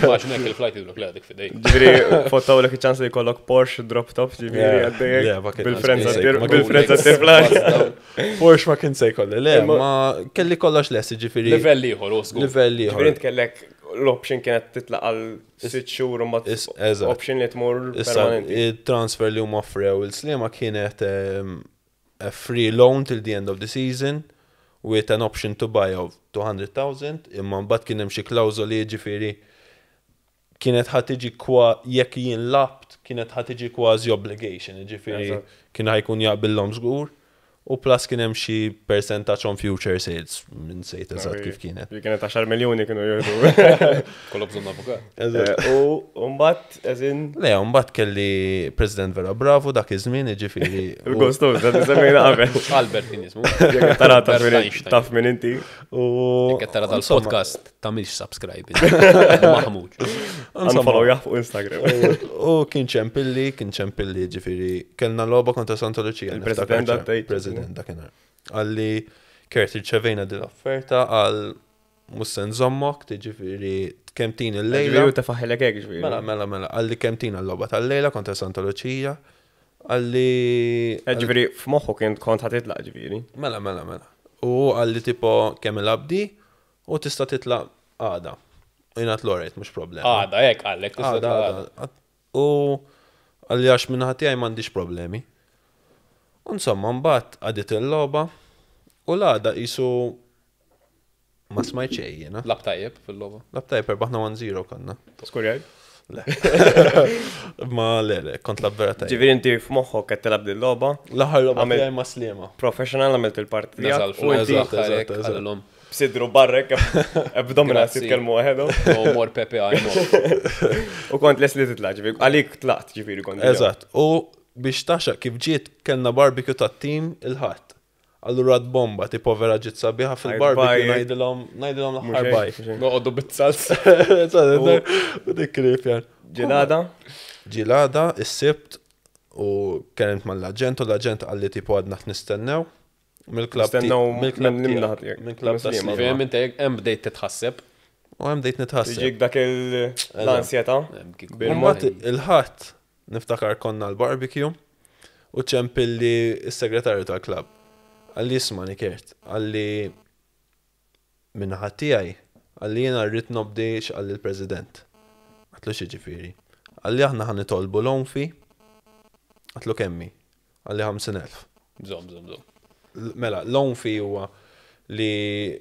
Ma x'nek il-flight idlok le dik fidejk. Ġifieri fottaw lek iċ-ċans li jkollok Porsche drop top ġifieri Yeah. għaddejjek. Le, ma kien- Bil-frenza ma tir kien- bil-frenza tirfly. Porsche ma kien se jkolli, le, Imma- ma kelli kollox lest, ġifieri. Livell ieħor, u żgur. Livell ieħor. Ġifieri int kellek l-option kienet titlaq għal sitt xhur u mbagħad Eżatt. option li tmur Issa, permanenti. il-transfer li huma offrew il-Sliema kienet a free loan till the end of the season with an option to buy of 200,000 imma mbagħad kien hemm xi klawżoli ġifieri kienet ħa tiġi kwa jekk jien labt kienet ħa tiġi kważi obligation, ġifieri Eżatt. kien ħa jkun jaqbillhom żgur u plus kien hemm xi percentage on future sales minn sejt eżatt kif kienet. Li kienet 10 miljoni kienu jieħdu. Kollu bżonn avukat. Eżatt. U mbagħad eżin Le, mbagħad kelli President Vera Bravo dak iż-żmien, ġifieri. u- il-gostos, da semmejna qabel. Albert kien jismu. Jekk tara taf Albert min Einstein. taf min inti. U Jekk qed tara insomma, dal-podcast tagħmilx subscribe. Maħmuġ. insomma, Unfollow jah fuq Instagram. U kien ċempilli, kien ċempilli ġifiri, kellna logħba kontra Santa Lucia. Il-President niftakar ċar. għaddejt. President dakinhar. Għalli Kurt irċevejna din l-offerta għal mussen zommok, tiġifieri kemm tin il-lejla. Ġifieri u tefaħilek hekk ġifieri. Mela, mela, mela, għalli kemm tin l-logħba tal-lejla kontra Santa Lucia. Għalli. Eh, Ġifieri f'moħħu kien kont ħa titlaq ġifieri. Mela, mela, mela. U għalli tipo kemm il-abdi u tista' titlaq għada. Jien l-orejt, mhux problema. Għada, hekk għallek. tista' Għada, tgħada. għada. U għalli għax minna ħatijaj mandiġ problemi. U Insomma, mbagħad għadit il-logħba u l-għada jisu ma smajt xejn jiena. Lab tajjeb fil-logħba. Lab tajjeb erbaħna 1-0 konna. Skurjaj. Le. Ma le, le, kont lab vera tajjeb. Ġifieri inti f'moħħok qed tilgħab din logħba, L-aħħar logħba Għamil- tiegħi ma Sliema. professional għamilt il-parti Nasal tiegħek u inti Eżatt, eżatt, eżatt. Għallhom. b'sidru barrek abdominals Grazzi. jitkellmu waħedhom. No more Pepe, I'm off. U kont les li titlaq ġifieri, għalik tlaqt ġifieri kont. diġà. Eżatt. U biex taxxa kif ġiet kellna barbecue tat-tim il-ħadd. Allura d bomba tipo vera ġiet sabiħa fil-barbecue bye. ngħidilhom ngħidilhom Mhux l-aħħar hekk, bye. mhux hekk. Noqogħdu bit-salsa. Eżatt, U dik krip jan. Ġilada, Ġilada, is-sibt, u kellimt mal-aġent, u l-aġent għalli tipo għadna nistennew. Mill-klab Nistennew mill-klab minn tiegħek, naħa tiegħek, Mill-klab minn ta' Sliema. Sliema. Fem inti hemm bdejt titħasseb. U hemm bdejt nitħasseb. tiġik dak l-ansjetà. Hemm kieku- Bil- U mbagħad il-ħadd niftakar konna l-barbecue u ċempilli s-segretarju tal-klab. Għalli isma' Kert, għalli minnaħa tiegħi, għalli jiena rrid nobdi x'qalli l-President. Għatlu xi ġifieri. Għalli aħna ħa nitolbu l-onfi, għatlu kemmi, għalli 50,000. Żomm, żomm, żomm. Mela, l-onfi huwa li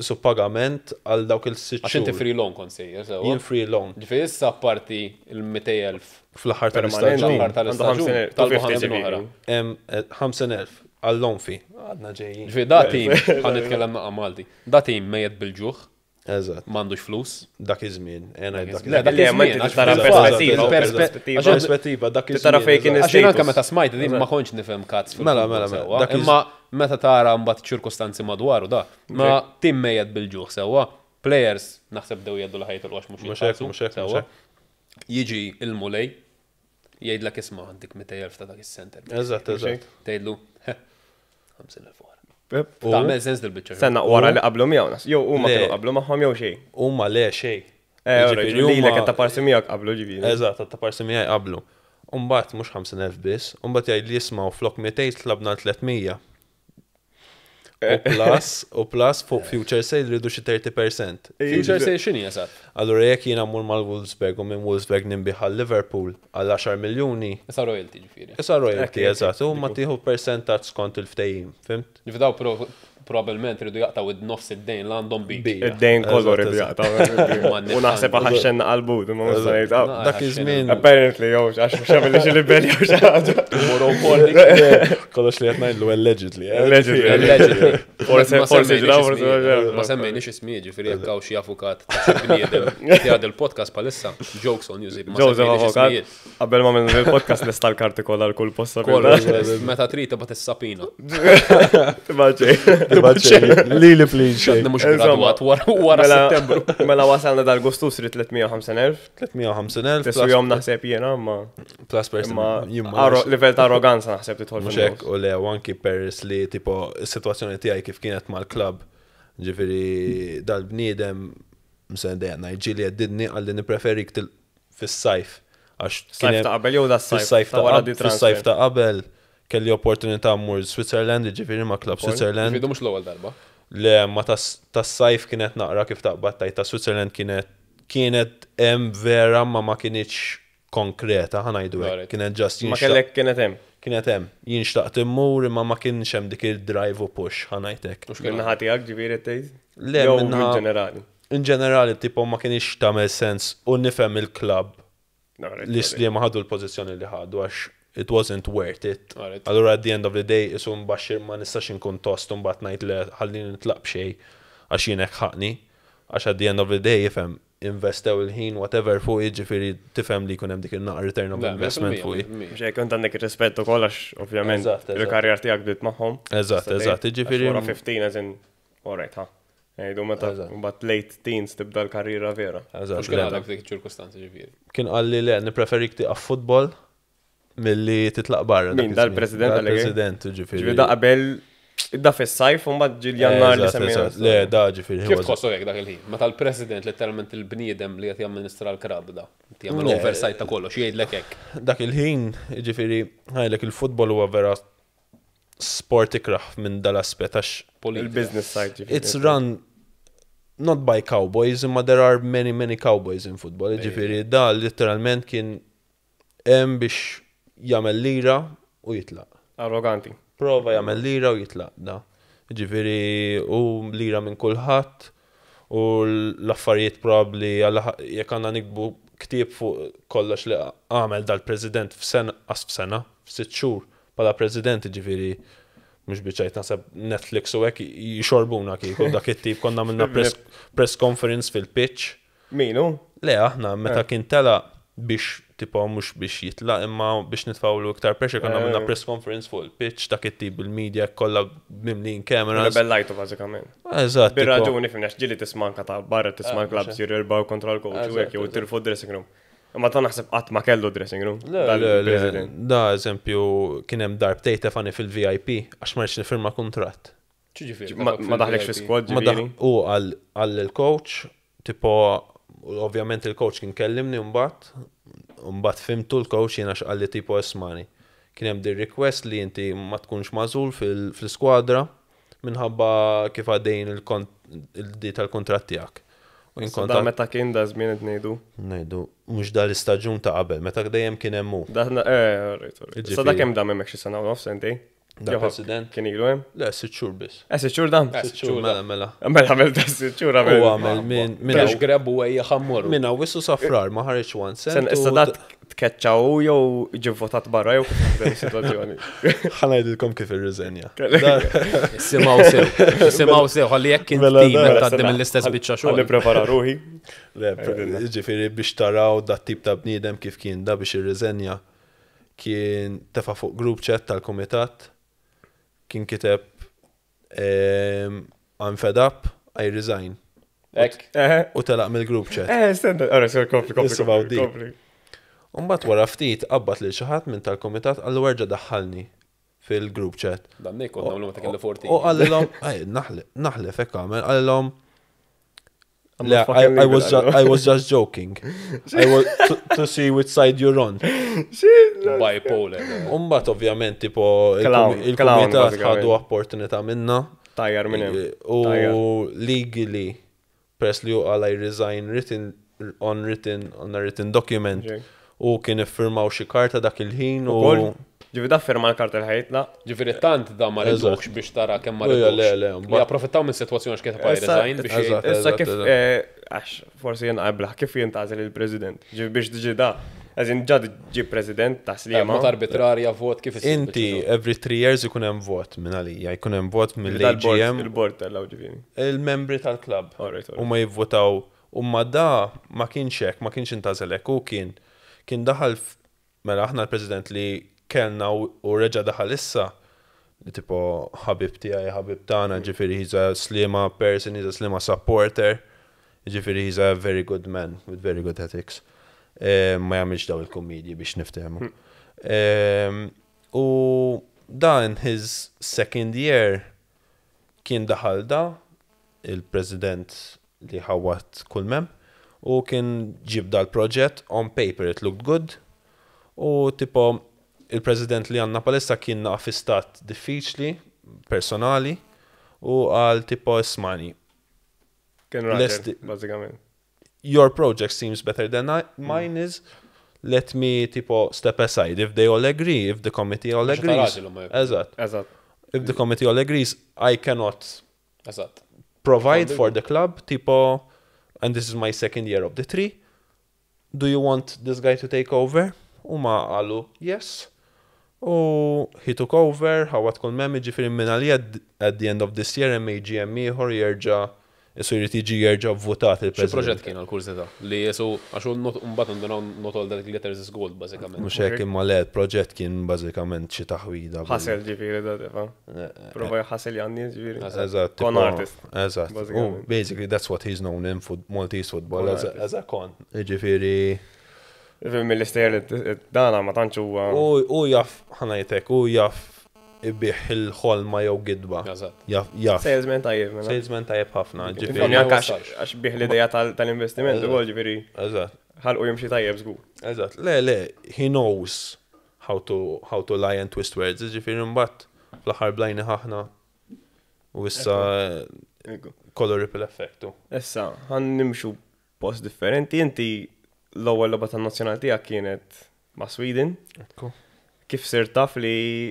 su pagament għal dawk il-sitt Għax inti xhur. free loan kont sejjer, sewwa. Jien free loan Ġifieri issa apparti il-200,000 fl-aħħar Permanenti. tal-istaġun. L-aħħar tal-istaġun, Għandu 50,000, talbu 250 ħamsin oħra. ġifieri. Hemm, 50,000 għall-onfi. Għadna ġejjin. Ġifieri da tim, ħa nitkellem naqa' Malti. Da tim mejjet bil-ġuħ, Eżatt, m'għandux flus. dak iż-żmien. Ena dak Le, dak Le, ma iż-żmien, inti għax tara fil-fatt, perspettiva, il-perspe- perspettiva. Perspettiva, dak iż-żmien. Tara fejn kien eżatt. Għax jien anke status. meta smajt din ma kontx nifhem kazz fil Mela, mela, mela. sewwa. Dak iż- Imma meta tara mbagħad ċirkustanzi madwaru da. Ma tim mejjed bil-ġuħ sewwa. Players naħseb dew jgħidu l-ħajt l mhux Mhux hekk, jitħallsu, mhux hekk, mhux sewwa. hekk. Jiġi il-mulej jgħidlek isma' għandek 200,000 ta' dak is-center. Eżatt, eżatt. Tgħidlu, 50,000 wara. U- Tagħmel sens dil-biċċa. Senna wara li qablu miegħu nas. Jew huma Le. kienu qablu magħhom jew xejn. Huma le xejn. Eh, ora, Jiġifieri li huma- l ta' parsi miegħek qablu ġifieri. Eżatt, ta' parsi miegħi qablu. Umbagħad mhux 50,000 biss, umbagħad jgħid li jismgħu flok 200 tlabna 300. U plus, u plus fuq future sale rridu xi 30%. Future sale x'inhi eżatt? Allura jekk jiena mmur mal-Wolfsburg u minn Wolfsburg ninbigħ għal Liverpool għal 10 miljuni, Issa royalty ġifieri. issa royalty Ekk, ekk, eżatt, u ma tieħu percentaġġ skont il-ftehim, fhimt? Ġifieri daw probabbilment ridu jaqtaw id-nofs id-dejn l għandhom bik. Bija. Id-dejn kollu Eżatt, rridu eżatt. jaqtaw. U naħseb ħaxxenna qalbu, ma mhux se ngħid. ah, Dak iż-żmien Apparently, jew għax mhux għamilli xi libel jew xi ħaġa. Moro porni. kollox li qed ngħidlu allegedly. eh? Allegedly. Allegedly. Forse Ma forsi semmejniex ġraw, forsi ismijiet. ġraw. Ma semmejniex ismijiet, ġifieri jekk hawn xi avukat ta' xi bniedem li għad il-podcast palissa, jokes on you, ma Joseph semmejniex Avocat, ismijiet. qabel ma minn il-podcast lesta l-karti kollha l-kull Kollox, possibilità. meta trid tibgħat is-sapina. Tibaċi. Lili please. xejn. Għadni mhux Insomma, gradwat wara wara Mela- Settembru. Mela wasalna dal-gustus rid 350,000. 350,000 Tissu jom naħseb jiena, ma plus percent. imma Jien ma arro- livell ta' arroganza naħseb tidħol Mhux fin-nofs. hekk u le u anki peress li tipo is-sitwazzjoni tiegħi kif kienet mal-klabb, ġifieri dal-bniedem msen dejjem ngħid għeddidni għalli nippreferik til fis-sajf għax kien Sajf hemm- ta' qabel jew da sajf fis-sajf ta' wara qabel di fis-sajf transfer. ta' qabel kelli opportunità mmur Switzerland, ġifieri ma' klabb Switzerland. Ġifieri mhux l-ewwel darba. Le, ma tas- tas-sajf kienet naqra kif taqbad tajt ta' Switzerland kienet kienet hemm vera ma ma kienitx konkreta ħa ngħidu hekk. Alright. Kienet just Ma jien xtaqt- kellek kienet hemm. kienet hemm. Jien xtaqt immur imma ma kienx hemm dik il-drive u push ħa ngħidlek. Mhux kien Minnaħa tiegħek ġifieri tgħid? Le, Jew minnaħa- in ġenerali. In ġenerali tipo ma kienx tagħmel sens u nifhem il-klabb li li ma ħadu l-pożizzjoni li ħadu għax it wasn't worth it. Alright. Allura at the end of the day isu mbaxxir ma nistax inkun tost u mbagħad ngħid le ħallini nitlaq b'xejn għax jien hekk ħaqni. Għax at the end of the day ifhem investew il-ħin whatever fuq jiġifieri tifhem li jkun hemm dik il-naqra return of Le, investment 100%, fuq. 100%. Mhux hekk kont għandek ir-rispett ukoll għax ovvjament Eżatt, eżatt. il-karriera tiegħek bdiet magħhom. Eżatt, Tista' eżatt, tgħid, jiġifieri- għax Wara 15 as in, alright, ha. Ngħidu meta Eżatt. mbagħad late teens tibda l-karriera vera. Eżatt. Mhux kien le. għalek f'dik iċ-ċirkustanzi ġifieri. Kien qalli le nippreferik tieqaf futbol milli titlaq barra. dak Min, iż-żmien. dal-president għalek? Dal-president, ġifieri. Ġifieri da qabel da fis-sajf u mbagħad ġil jannar li Eżatt, semmejna. eżatt. Le, da ġifieri. Kif tħossu hekk dak il-ħin? Meta l-president letteralment il-bniedem li qed jamministra l-krab da, qed jagħmel Le. oversight ta' kollox, jgħidlek hekk. Dak il-ħin, ġifieri, ħajlek il-futbol huwa vera sport ikraħ minn dal-aspett għax Politika. Il-business side ġifieri. it's run not by cowboys, imma there are many, many cowboys in football. Ġifieri, da literalment kien hemm biex jagħmel lira u jitlaq. Arroganti. Prova jagħmel lira u jitlaq da. Ġifieri u lira minn kulħadd u l-affarijiet probabbli għal jekk għandna nikbu ktieb fuq kollox li għamel dal-president f'sena qas f'sena, f'sitt xhur bħala president ġifieri mhux biċajt naħseb Netflix u hekk jixorbuna kieku dak it-tip konna għamilna press, press conference fil-pitch. Minu? Le, aħna meta kien tela biex tipo mhux biex jitlaq imma biex nitfawlu iktar pressure konna għamilna Eh. press conference fuq il-pitch dak it-tip il-media kollha mimlin cameras. Rebellajtu bażikament. Eżatt. tipo- Bir-raġuni fimna ġili tisma' anka ta' barra tisma' clubs jirrilbaw kontra l-coach u Eżatt, hekk jew tilfu dressing room. Imma ta' naħseb qatt ma kellu dressing room. Le, le, le, dal-president. da eżempju kien hemm darbtej tefani fil-VIP għax ma rridx nifirma kuntratt. Ġifieri. Ma daħlekx fi squad Ma daħ ġifieri. u għal għal il-coach, tipo ovvjament il-coach kien kellimni mbagħad, mbagħad fimtu l-coach jiena x'qalli tipo esmani. Kien hemm dir request li inti ma tkunx magħżul fil- fil-skwadra minħabba kif għaddejn il-di tal-kuntratt tiegħek. U jien Da kont meta kien da żmien qed ngħidu. ngħidu mhux dal-istaġun ta' qabel, meta dejjem kien hemm hu. Da eh, alright, alright. Sa da Jiġifieri. kemm dam hemmhekk xi sena u nofs sentej? Da Jew president? Kien ilu hemm? Le, sitt xhur biss. Eh, sitt xhur dam? Eh, Sitt xhur mela mela. Mela għamel da sitt xhur U għamel. għamel minn minn Minn grab u ejja ħammorru. minn wissu safrar ma ħareġ one cent. Sen u issa da tkeċċaw jew ġi votat barra jew kif taħdem is-sitwazzjoni. ħanajdilkom kif irriżenja. Simaw sew. Simaw sew, ħalli jekk int Mela, tim da, qed tgħaddi mill-istess biċċa Għalli xogħol. prepara ruħi. Le, Ġifieri biex taraw dat tip ta' bniedem kif kien da biex irriżenja kien tefa' fuq group chat tal-kumitat kien kiteb ehm, I'm fed up, I resign. Hekk. Eh, U telaq mill-group chat. eh, stenna, ora, sir, kompli, kompli, Nisimgħu kompli, di. kompli. Umbat wara ftit qabbat lil xi ħadd minn tal-kumitat qallu erġa' daħħalni fil-group chat. Dan kont nagħmlu meta kelli 14. U għallilhom, ej, naħlef, naħlef hekk għamel, għallilhom I'm Le, not fucking I, I was leaving, ju I was just joking. I was to, to see which side you're on. Bipolar. Umbat ovvjament tipo Clown, il-komitat clown, bażikament. ħadu opportunità minna. Tajjar minn hemm. U Tajjar. legally, peress li hu qal I resign written on written on a written document Ġej. u kien iffirmaw xi karta dak il-ħin u Ukoll, ġifi da firma l-karta l-ħajt, la. Ġifieri tant da ma Eżatt. ridux biex tara kemm ma Ejja, ridux. le, le, Li mbagħad- approfittaw minn sitwazzjoni għax kien ta' Issa- resign biex jgħid. Eżatt. Issa kif, eżatt. għax forsi jien qabla, kif jintgħażel il-president? Ġifi biex diġi da, għazin ġad ġi president ta' Sliema. Mod arbitrarja vot kif isir Inti biċċa xogħol. every 3 years ikun hemm vot minn għalija, jkun hemm vot Ġifi dal-board- mill-AGM, Il-board tal-law ġifiri. il-membri tal-klabb. Alright, U alright. ma jivvotaw u ma da ma kienx hekk, ma kienx intgħażel hekk, u kien daħal mela aħna l-president li kellna u reġa' daħal issa li tipo ħabib tiegħi, ħabib tagħna, ġifieri he's a Sliema person, he's a Sliema supporter, ġifieri he's a very good man with very good ethics. Ma jagħmilx daw il-kommedji biex niftehmu. U da in his second year kien daħal da il-president li ħawat kull mem u kien ġib dal-proġett on paper it looked good u tipo il-president li għanna palissa kien naqaf fi stat diffiċli personali u għal tipo ismani Kien raġel, Lesti- bażikament. your project seems better than mine is let me tipo step aside if they all agree if the committee all Għax ta' agrees raġel huma jekk. eżatt Eżatt. if the committee all agrees I cannot Eżatt. provide for the club, tipo, and this is my second year of the three. Do you want this guy to take over? U ma qalu, yes. U he took over, ħawat kull mem, ġifiri minn għalija at the end of this year, MAGM ieħor jerġa' isu jrid jiġi jerġa' votat Xi il-president. proġett kien għal-kurżità li jesu għax hu mbagħad ndunaw not all that glitters is gold bażikament. Mhux hekk imma le, il-proġett kien bażikament xi taħwida. Ħasel ġifiri da tefa. Prova ħasel janni ġifiri. Eżatt. Con tipo, artist. Eżatt. U Bażikament. basically that's what he's known in Maltese football Con as a, artist. as a con. Ġifieri Ġifiri mill-istejjer li dana ma tantx huwa. U jaf, ħanajtek, u jaf ibiħ il-ħolma jew gidba. Eżatt. Jaf, jaf. Salesman tajjeb, mela. Salesman tajjeb ħafna, Ġifiri ġifieri. Ma anke għax jwassalx. għax bih l-ideja tal-investiment ukoll ġifiri Eżatt, ħalqu jimxi tajjeb żgur. eżatt. Le, le, he knows how to lie and twist words, ġifieri mbagħad fl-aħħar blajni ħafna. U issa Ekku. kollu ripple effectu. Issa, ħan nimxu post differenti. Inti l-ewwel logħba tan-nazzjonal tiegħek kienet ma' Sweden. Ekku. Kif sirt taf li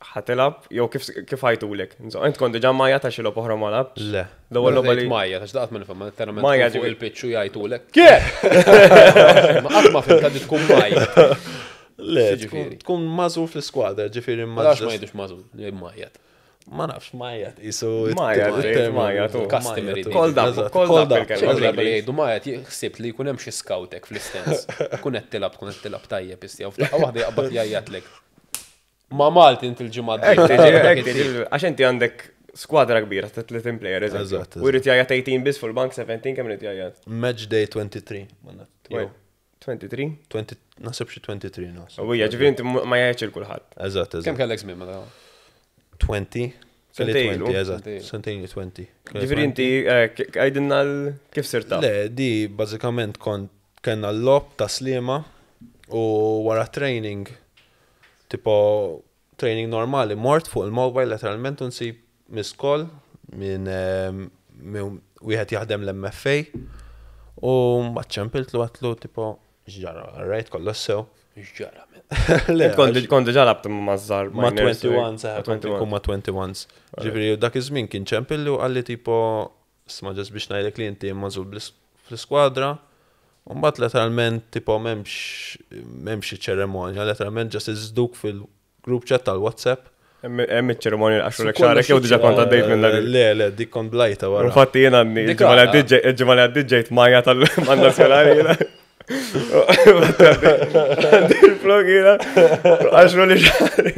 ħatilab jew kif ħajtulek? Insomma, int kont diġà Maja ta' xi logħba oħra ma labx. Le. L-ewwel logħba li Majja, ta' x'daqt ma nifhem, ma letteralment Majja tkun fuq ġifieri- il-pitch u jgħidulek. Kif? Ma qatt ma fhimt għaddi tkun Majja. Le, Ġifieri. tkun mażul fl-iskwadra, ġifieri Ma nafx ma ma jgħidux mażul, jgħid Majja. Ma nafx majjat, isu. Majjat, il-terminu. majjat, u. Customary. Called up, Eżatt, called up called up. il-kelma. Xi Eżatt. li jgħidu Majja ħsibt li jkun hemm xi scoutek fl-istens. Tkun qed tilab, tkun qed tilab tajjeb istja. U f'daqqa waħda jaqbad jgħajjatlek. Ma Malti inti l-ġimgħa Hekk tiġi, d-dieħla. hekk tiġi, għax inti għandek skwadra kbira ta' 30 player, eżempju. Eżatt, U jrid jgħajjat 18 biss fuq il-bank 17 kemm irid jgħajjat? Match day 23. ma naf- jew 23? 20 Nasib xi 23 nasib. U hija ġifieri inti ma jgħidx il kulħadd. Eżatt, Kemm eżatt. kellek żmien meta? 20. Kelli Sentejn ilu. 20, eżatt. Sentejn. Sentejn 20. Kelli Ġifieri 20. inti għajdilna kif sirt taf. Le, di bażikament kont kellna l-lob ta' Sliema u wara training tipo training normali mort fuq il-mobile letteralment u nsib miss call minn wieħed jaħdem l-MFA u mbagħad ċempiltlu għatlu tipo x'ġara, right, kollox sew. X'ġara men. Le, Int Kont kont diġà labt ma' żgħar Ma' minors, 21, seħ, ma' kont inkun ma' 21s. Ġifieri, dak iż-żmien kien ċempilli u qalli tipo, sma ġas biex ngħidlek li inti magħżul fl-iskwadra. U mbagħad letteralment tipo m'hemmx ċeremonja, letteralment ġas iżduk fil-group chat tal-WhatsApp. Hemm iċ-ċerimonja li qaxxulek Su kollox xagħrek jew diġà kont għaddejt minn dak. Le, le, dik kont blajta wara. Infatti jiena għadni, Dik il-ġimgħa li għala. għaddiet il-ġimgħa li għaddiet ġejt Maja tal-nazzjonali jiena. Għandi il-flok jiena. Għaxru li xagħri.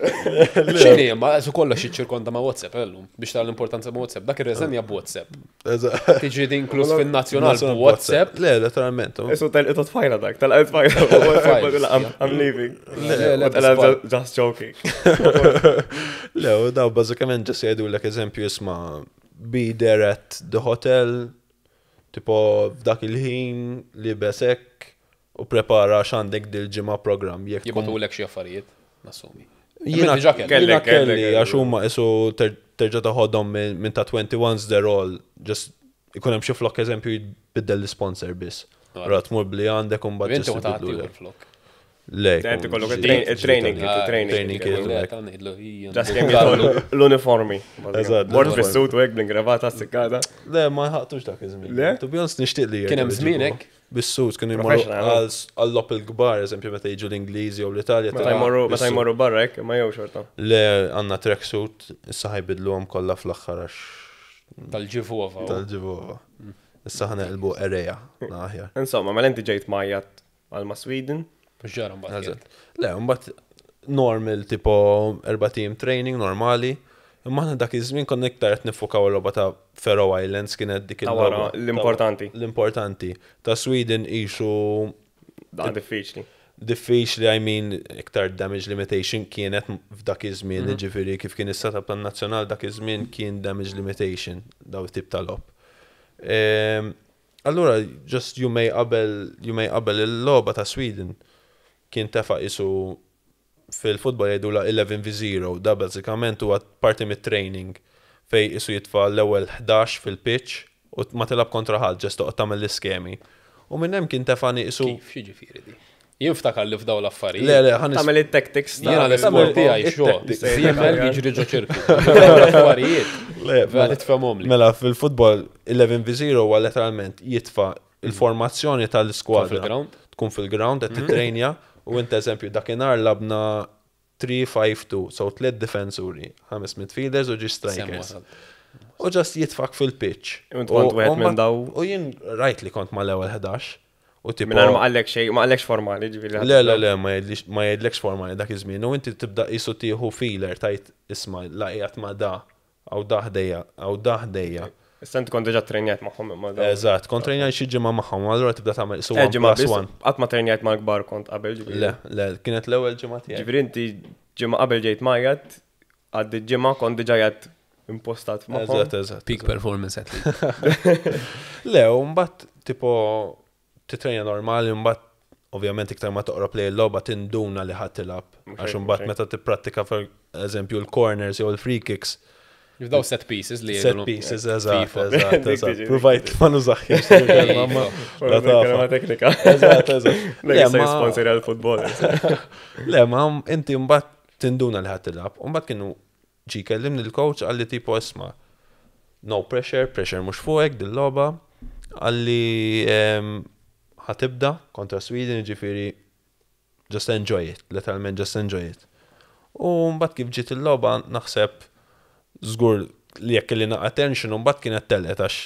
X'inhi ma su kollox jiċċirkonda ma' WhatsApp illum biex tara l-importanza ma' WhatsApp. Dak ir-reżenja b'WhatsApp. Eżatt. Tiġi inkluż fin-nazzjonal b'WhatsApp. Le, letteralment. Isu tal-qito tfajla dak, tal-qito tfajla. Files, I'm leaving. Le, le, U tal- bisbal. Just joking. Le, u daw bażikament ġas jgħidulek eżempju isma' be there at the hotel, tipo f'dak il-ħin li besek u prepara x'għandek dil-ġimgħa program. Jekk tkun Jibgħatulek xi affarijiet, nassumi. Jiena diġà kellek. jiena Kellek, kellek, kelli għax huma isu terġa' toħodhom minn ta' 21s they're all just ikun hemm xi flok eżempju jbiddel l-sponsor biss. Ra tmur bli għandek u mbagħad Inti just u taħt ibidlulek. il-flok. Le, Inti jkun kollok ġdid, il-training ġdid kit, għandek. il-training Training kit. kit. Le, ta' ngħidlu, hija, Just kemm jidħol l-uniformi. Eżatt, Mort l-uniformi. fis-suit u hekk bl-ingravata s-sikkata. Le, ma ħaqtux dak iż-żmien. Le? To be honest, nixtieq li Kien hemm jerġgħu żmien jġibuha. hekk? Bis-suit kienu jmorru Professional, no? għall-lop il-kbar, eżempju, meta jiġu l-Ingliżi jew l-Italja. Meta tilgħu jmorru meta bis-suit. jmorru barra hekk, ma jew xorta. Le, għandna tracksuit, issa ħajbidluhom kollha fl-aħħar għax Tal-ġivova. tal-ġivova. Issa ħaneqilbu ereja, aħjar. Insomma, mela inti ġejt majjat għal ma' Sweden. Ġara mbagħad. Eżatt. Le, mbagħad normal tipo erba' team training normali. Imma aħna dak iż-żmien konna iktar qed nifukaw il-logħba ta' Faroe Islands kienet dik Ta' wara, il-logħba. l-importanti. L-importanti. Ta' Sweden isu Da diffiċli. diffiċli, I mean, iktar damage limitation kienet f'dak iż-żmien, ġifieri kif kien is-setup tan-nazzjonal dak iż-żmien kien damage limitation daw tip ta' logħob. Allura, just you may qabel you may qabel il-logħba ta' Sweden kien tefa' isu fil-futbol jgħidu la 11v0, da bażikament huwa parti mit-training fej isu jitfa' l-ewwel 11 fil-pitch u ma tilab kontra ħadd, just toqgħod tagħmel l-iskemi. U minn hemm kien tefani isu Kif, x'jiġifieri di? Jien ftakar li f'daw l-affarijiet. Le, le, ħan Tagħmel it-tactics. Jiena l-isport tiegħi xo. it-tactics. Żiemel jiġri ġo ċirku. Dawn L-affarijiet. Le, Vera titfhemhom li. Mela, fil-futbol 11v0 huwa letteralment jitfa il-formazzjoni tal-iskwadra. Tkun fil-ground? Tkun fil-ground, qed titrejnja u int eżempju dakinhar labna 3-5-2, so tliet defensuri, ħames midfielders u ġi strikers. U just jitfak fil-pitch. U int kont wieħed minn daw- U jien rajt li kont mal-ewwel 11. U tipo. Minn ma qallek xejn, ma qallekx formali, ġifieri. Le, le, le, ma jgħidlekx formali dak iż-żmien. U inti tibda qisu tieħu feeler tajt isma' la qiegħed ma da, għaw da ħdejja, għaw da ħdejja. Issa inti kont diġà trenjat magħhom imma daw. Eżatt, kont trenjaj xi ġimgħa magħhom, allura tibda tagħmel isu Eh, one ġimgħa plus biss, one. qatt ma trenjat mal-kbar kont qabel, ġifieri. Le, le, kienet l-ewwel ġimgħa tiegħi. Ġifieri inti ġimgħa qabel ġejt majjat, għaddi ġimgħa kont diġà jgħid impostat magħhom. Eżatt, eżatt. Peak performance athlete. Le, u mbagħad tipo titrenja normali, mbagħad ovvjament iktar ma toqrob lejn il-logħba tinduna li ħadd tilgħab. Mhux Għax hekk, imbagħad mhux hekk. meta tipprattika per eżempju l-corners jew l-free kicks, F'daw set pieces li set jgħidulhom. pieces, eżatt, FIFA. eżatt, Dik eżatt. tiġi, dik Provajt ma nużaħħiex il-kelma, ma la Kelma tafa. teknika. Eżatt, eżatt. Le, Le, se ma- jisponsor għal-futbol. Le, ma inti mbagħad tinduna li ħadd tilgħab. U mbagħad kienu ġi kellimni l-coach għalli tipo isma' no pressure, pressure mhux fuqek dil-logħba. Għalli ħatibda kontra Sweden, ġifieri just enjoy it, literalment just enjoy it. U mbagħad kif ġiet il-logħba naħseb żgur li jekk li naqa' tension u mbagħad kienet telqet għax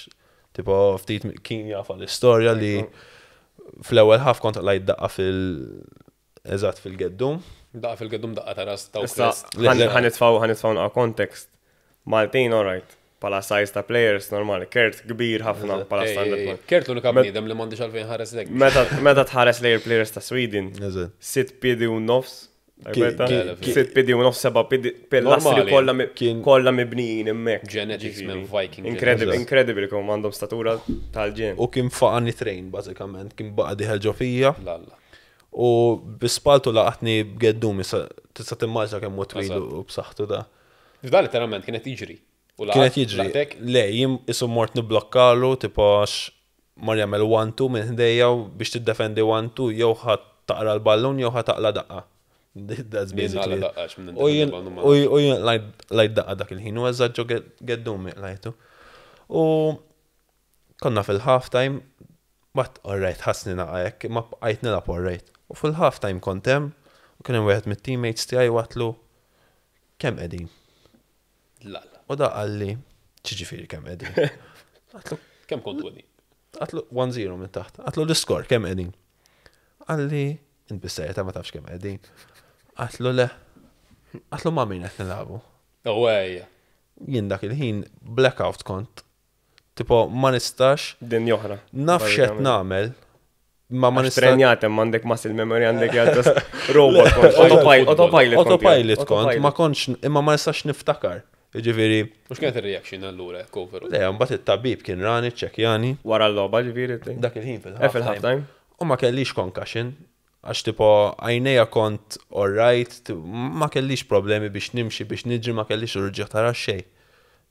tipo ftit kien jafa l-istorja li fl-ewwel ħaf kont lajt daqqa fil eżatt fil-geddum. Daqqa fil-geddum daqqa ta' ras ta' Issa, Crest. Le, le. ħanitfaw ħanitfaw naqa context. Maltin, alright. Pala size ta' players normali. Kert kbir ħafna pala standard. man. Kert l-unika bniedem li m'għandix għalfejn ħares lek. Meta tħares lejn players ta' Sweden, Eżatt. sitt piedi u nofs. Ki- ki- Sitt piedi u nofs, seba piedi, pilastri Normali. kollha Kien- kollha mibnijin hemmhekk. Genetics Ġifieri. minn Viking. Incredible, Eżatt. incredible kemm għandhom statura tal-ġen. U kien faqani train bażikament, kien baqa diħel ġo fija Lalla. u bispaltu laqatni b'geddum issa tista' timmaġina kemm hu twil Eżatt. u b'saħħtu da. F'da letteralment kienet jiġri. U laqat- Kienet jiġri. laqtek, Le, jien isu mort niblokkalu tipo għax mar jagħmel 1-2 minn ħdejja u biex tiddefendi 1-2 jew ħadd taqra l-ballun jew ħadd taqla daqqa. That's Jien basically. naqla it. daqqa, għax minn U jien nindefendi l-ballun u u jien lajt daqqa dak il-ħin u eżatt ġo geddum lajtu. U konna fil-half time, but alright, ħassni naqa hekk, ma bqajt nilgħab alright. U fil-half time kont hemm, u kien hemm wieħed mit-teammates tiegħi watlu kemm qegħdin. Lalla. U da qalli, ġifieri kemm qegħdin. Għatlu, Kemm kontu għedi? għatlu 1-0 minn taħt. Għatlu l-iskor kemm qegħdin. Qalli, int bis-serjetà ma tafx kemm qegħdin. Għatlu le. Għatlu ma' min qed nilagħbu. Oh, ejja. Jien dak il-ħin blackout kont. Tipo ma nistax Din joħra. naf x'qed nagħmel ma ma Għax nistax trenjat hemm għandek muscle memory għandek jgħad robot kont. Autopilot autopilot kont. Autopilot kont, ma kontx imma ma nistax niftakar. Jiġifieri, Mux kienet il-reaction allura, cover. le, mbagħad it-tabib kien rani, ċekjani, Wara l-logħba ġifieri. dak il-ħin Eh, fil-half fil-half time. U ma kellix concussion, Għax tipo għajnejja kont alright, ma kellix problemi biex nimxi, biex niġri, ma kellix uġigħ ta' ras xejn.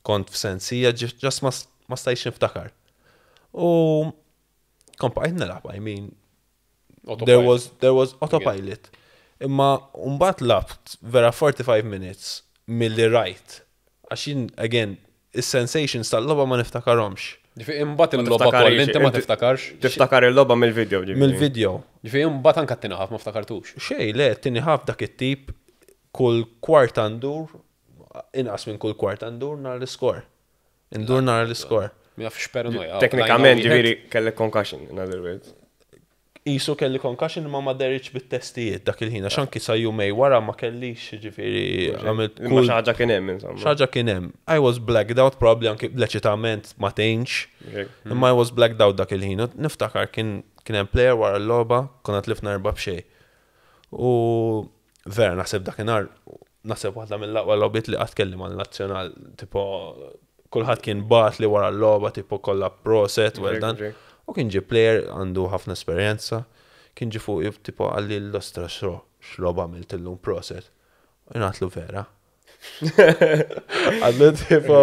Kont f'sensija, just ma stajtx niftakar. U kont bqajt nilgħab, I mean, there was autopilot. Imma mbagħad lgħabt vera 45 minutes milli rajt. Għax jien, again, is-sensations tal-logħba ma niftakarhomx. Ġifieri imbagħad il-logħba kollha inti ma tiftakarx. Tiftakar il-logħba mill-video. Mill-video. Ġifieri imbagħad anke t-tieni half ma ftakartux. Xej, le, t-tieni half dak it-tip kull kwarta ndur, inqas minn kull kwarta ndur nara l-iskor. Ndur nara l-iskor. Ma nafx paranoja. Teknikament ġifieri kellek concussion, in other words. Isu kelli concussion ma ma deritx bit-testijiet dak il-ħin, għax anki sa jumejn wara ma kellix, ġifieri għamilt Imma xi ħaġa kien hemm insomma. Xi ħaġa kien hemm. I was blacked out probably anki l-eċitament ma tgħinx. Imma I was blacked out dak il-ħin. Niftakar kien hemm player wara l-logħba, konna tlifna 4-0. U vera naħseb dakinhar naħseb waħda mill-aqwa logħbiet li qatt kelli mal-nazzjonal, tipo kulħadd kien bagħat li wara l-logħba tipo kollha proset, well done. U kien ġi player għandu ħafna esperjenza, kien ġi fuq tipo qalli l-ostra x'logħba għamilt illum proset. U jien għedtlu vera. Għallu tipo,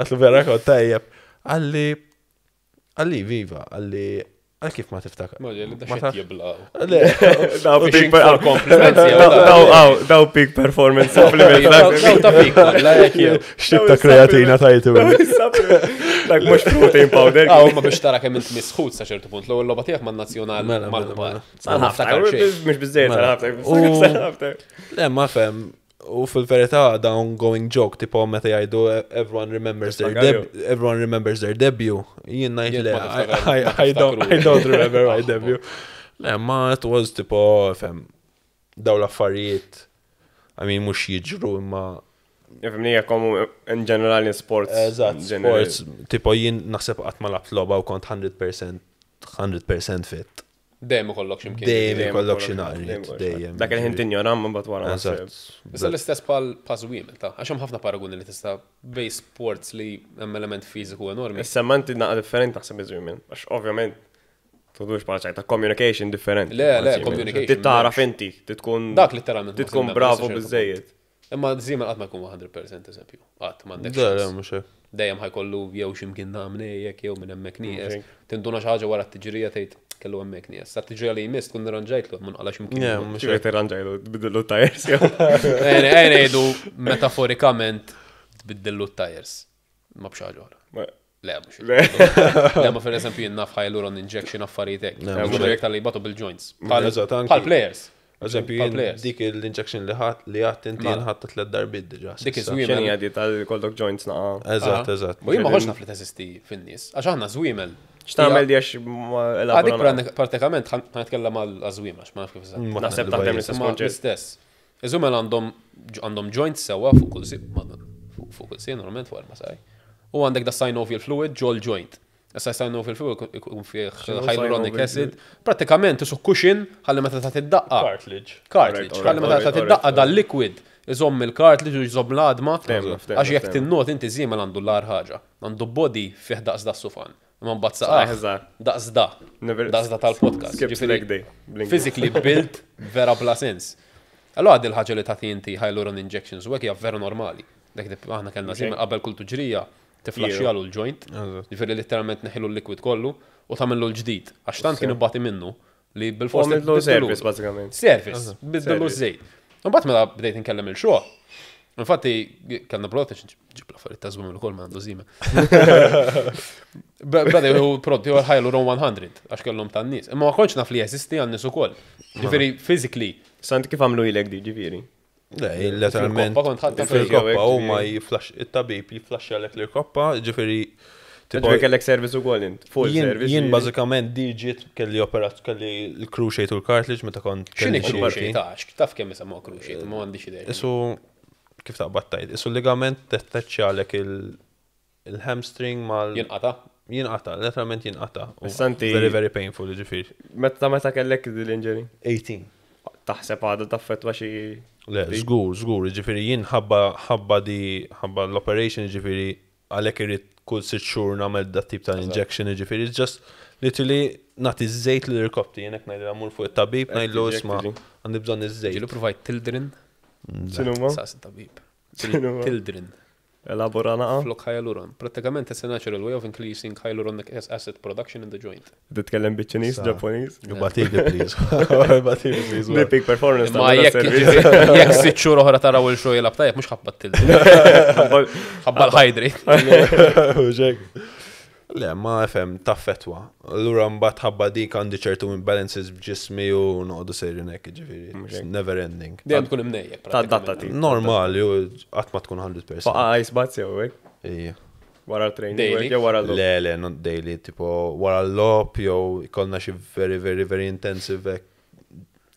għedtlu vera kont tajjeb. Qalli, qalli viva, qalli, għal kif ma tiftakar? Ma ġeli, da xed jibla. Le. Daw Fishing peak for compliments, jew da. Daw peak performance supplements. Daw ta' peak, la jek jew. X'tip ta' kreatina tajtu. Dak mhux protein powder. Aw, ma biex tara kemm int misħut sa ċertu punt, l-ewwel logħba tiegħek man-nazzjonal Mela, mela, mal-kbar. mela. Sa niftakar xejn. Mhux biżejjed Mela. sal ħafna. Le, ma fem, u fil-verità da ongoing joke, tipo meta jgħidu everyone remembers their Tiftakar everyone remembers their debut. Jien ngħid Jien le, ma tiftakar, ma I don't tiftakru. remember my debut. Le, ma it was tipo, fem, daw l-affarijiet, I mean, mhux jiġru imma Fimni, komu in ġenerali sports. Eżatt, sports, tipo jien naħseb qatt ma lgħabt logħba u kont 100% fit. Dejjem ikollok x'imkien. Dejjem ikollok xi naqriet, dejjem. Dak il-ħin tinjora ma mbagħad wara. Eżatt. Issa l-istess bħal pażwim, ta' għax hemm ħafna paragoni li tista' bej sports li hemm element fiżiku enormi. Issa ma inti naqa differenti naħseb iż-żmien, għax ovvjament tudux bħala ċajta communication differenti. Le, le, communication. Tit taraf inti, titkun Dak literalment ma titkun semmem, bravo sa ċertu biżejjed. Imma żiemel qatt ma jkun 100% eżempju. Qatt m'għandek. Le, le, xans. mhux hekk. Dejjem ħajkollu jew x'imkien nagħmel jew minn hemmhekk nieqes. Mhux Tinduna xi ħaġa wara t-tiġrija tgħid kellu hemmhekk nieqes. Sa t-tiġrija li jmiss tkun irranġajtlu hemm nqala x'imkien. Le, ieħor. mhux Ċivek hekk. tirranġajlu, tbiddillu tires jew. Ejja ngħidu metaforikament tbiddillu t-tires. Ma b'xi ħaġa oħra. Le, mhux. Le. Le, ma per eżempju jien naf hyaluron injection affarijiet hekk. Le, Mhux mhux hekk tal-li jbatu bil-joints. Eżatt, anki- Bħal players. Eżempju, Bħal jien players. dik l-injection li ħadd li ħadd inti Mela. jien ħadd tliet darbiet diġà. Dik s'issa. iż-żwiemel. X'inhi għadi tal-kollok joints naqa. Eżatt, eżatt. U jien ma kontx naf li teżisti fin-nies. Għax aħna żwiemel. X'tagħmel di għax ma Għadik elabora. pratikament ħan nitkellem għal żwiemel għax ma naf kif eżatt. Ma Naħseb naqdu taħdem bajjiet. l-istess Ma konċett. l-istess. Iż-żwiemel għandhom joints sewwa fuq kull si, fuq kull si normalment fuq erba' saj. U għandek da synovial fluid ġol joint. Issa synovial fluid ikun fih X'inhu hyaluronic synovial acid. Pratikament isu cushion ħalli meta tagħti id-daqqa. Cartilage. Cartilage. Alright, Ħalli meta alright, tagħti id-daqqa alright. dal-liquid iżomm il-cartilage u jżomm l-għadma. Ftehmna, ftehmna, Għax jekk ftehmna. tinnot inti żiemel għandu l-ar ħaġa. Għandu body fih daqs da sufan. Imma mbagħad saqaf. Saqajh Daqs da. Never- Daqs da tal-podcast. Skips Ġifieri, leg day. Blink. Physically built vera bla sens. Allora għad il-ħaġa li tagħti inti hyaluron injections u hekk hija vera normali. Dak tip aħna kellna żiemel qabel kull tuġrija tiflaxxjalu l-joint. Eżatt. Ġifieri literalment neħilu l-liquid kollu u tagħmillu l-ġdid. Għax tant kien ibati minnu li bil-fors Għamillu tibdillu- service bażikament. Service, biddillu Service. żejt. Imbagħad meta bdejt inkellem il-xogħol, infatti kellna prodott ġib l-affarijiet ta' żwiemel ukoll ma għandu żiemel. Bada hu prodotti huwa Hyaluron 100 għax kellhom tan-nies. Imma ma kontx naf li jeżisti għan-nies ukoll. Ġifieri physically Sant kif għamlu ilek di ġifieri? Le, letteralment. Fil-koppa kont ħadta Fil-koppa fil- u ma jiflash, it-tabib jiflaxxjalek l-koppa, ġifieri tipo Ġifieri kellek service ukoll int. Full jien service. jien ġifieri. bażikament di ġiet kelli operat kelli l-cruciate u l-cartilage meta kont x'inhi kelli xi cruciate għax taf kemm isemmuha cruciate, ma għandix idea. Isu kif taqbad tajt, isu ligament tettaċċjalek il-hamstring mal Jinqata' jinqata, letteralment jinqata. U Issa inti- Very, very painful, ġifieri. Meta meta kellek l-injury? 18. Taħseb għadha taffetwa xi Le, żgur, żgur, ġifieri jien ħabba ħabba di ħabba l-operation ġifieri għalhekk irrid kull 6 xhur nagħmel dat tip ta' injection, ġifieri, it's just literally nagħti żejt lil irkoppti, jien hekk ngħidilha mmur fuq it-tabib, ngħidlu Tiġi, isma' tiġi. għandi bżonn iż-żejt. Ġieli provajt Tildren, X'inhuma? saqs tabib. X'inhuma? Tildren, Elabora naqa. flok hyaluron. Prattikament it's a natural way of increasing hyaluronic acid production in the joint. Titkellem biċ-Ċiniż, Ġappuniż. Batili, please. Batili, please. Li peak performance Ma jekk 6 xhur oħra taraw il-show jilgħab tajjeb mhux ħabba Tildren. Ħabba l-hydrate. Ġek. Le, ma FM, taffetwa. Allura mbagħad ħabba dik għandi ċertu imbalances b'ġismi u noqogħdu sejrin hekk, ġifieri. Mhux It's hekk. never ending. Dejjem tkun imnejjek. Tadatta ti. Normali, u qatt ma tkun 100%. Faqa ice baths jew hekk. Ija. Wara l-training Daily? jew wara l Le, le, not daily, tipo wara l-logħob jew ikollna xi very, very, very intensive hekk.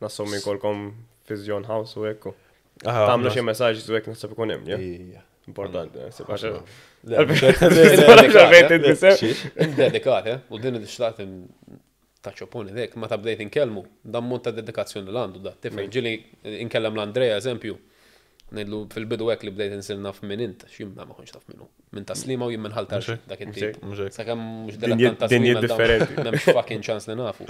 Nassumi jkollkom physio in house u hekk. Aha, Tagħmlu xi messaġġ u hekk naħseb ikun hemm, ja? Ija. Importanti, naħseb għax. Le, mhux hekk. Le, le, Għalfejn titbisem. Xiex? Dedikat, eh? U din xtaqt ta' ċoponi dek, meta bdejt inkellmu, dan mod ta' dedikazzjoni l għandu da. Tifhem, ġieli inkellem l-Andrea, eżempju, ngħidlu fil-bidu hekk li bdejt insir naf minn int, x'jien ma kontx taf minnu. Minn Taslima u jien minn Ħal Tarxien, dak it-tip. Mhux hekk. Sakemm mhux Dinjiet- dilettant ta' dinjiet Slima, dawn differenti. M'hemmx fucking ċans li nafu.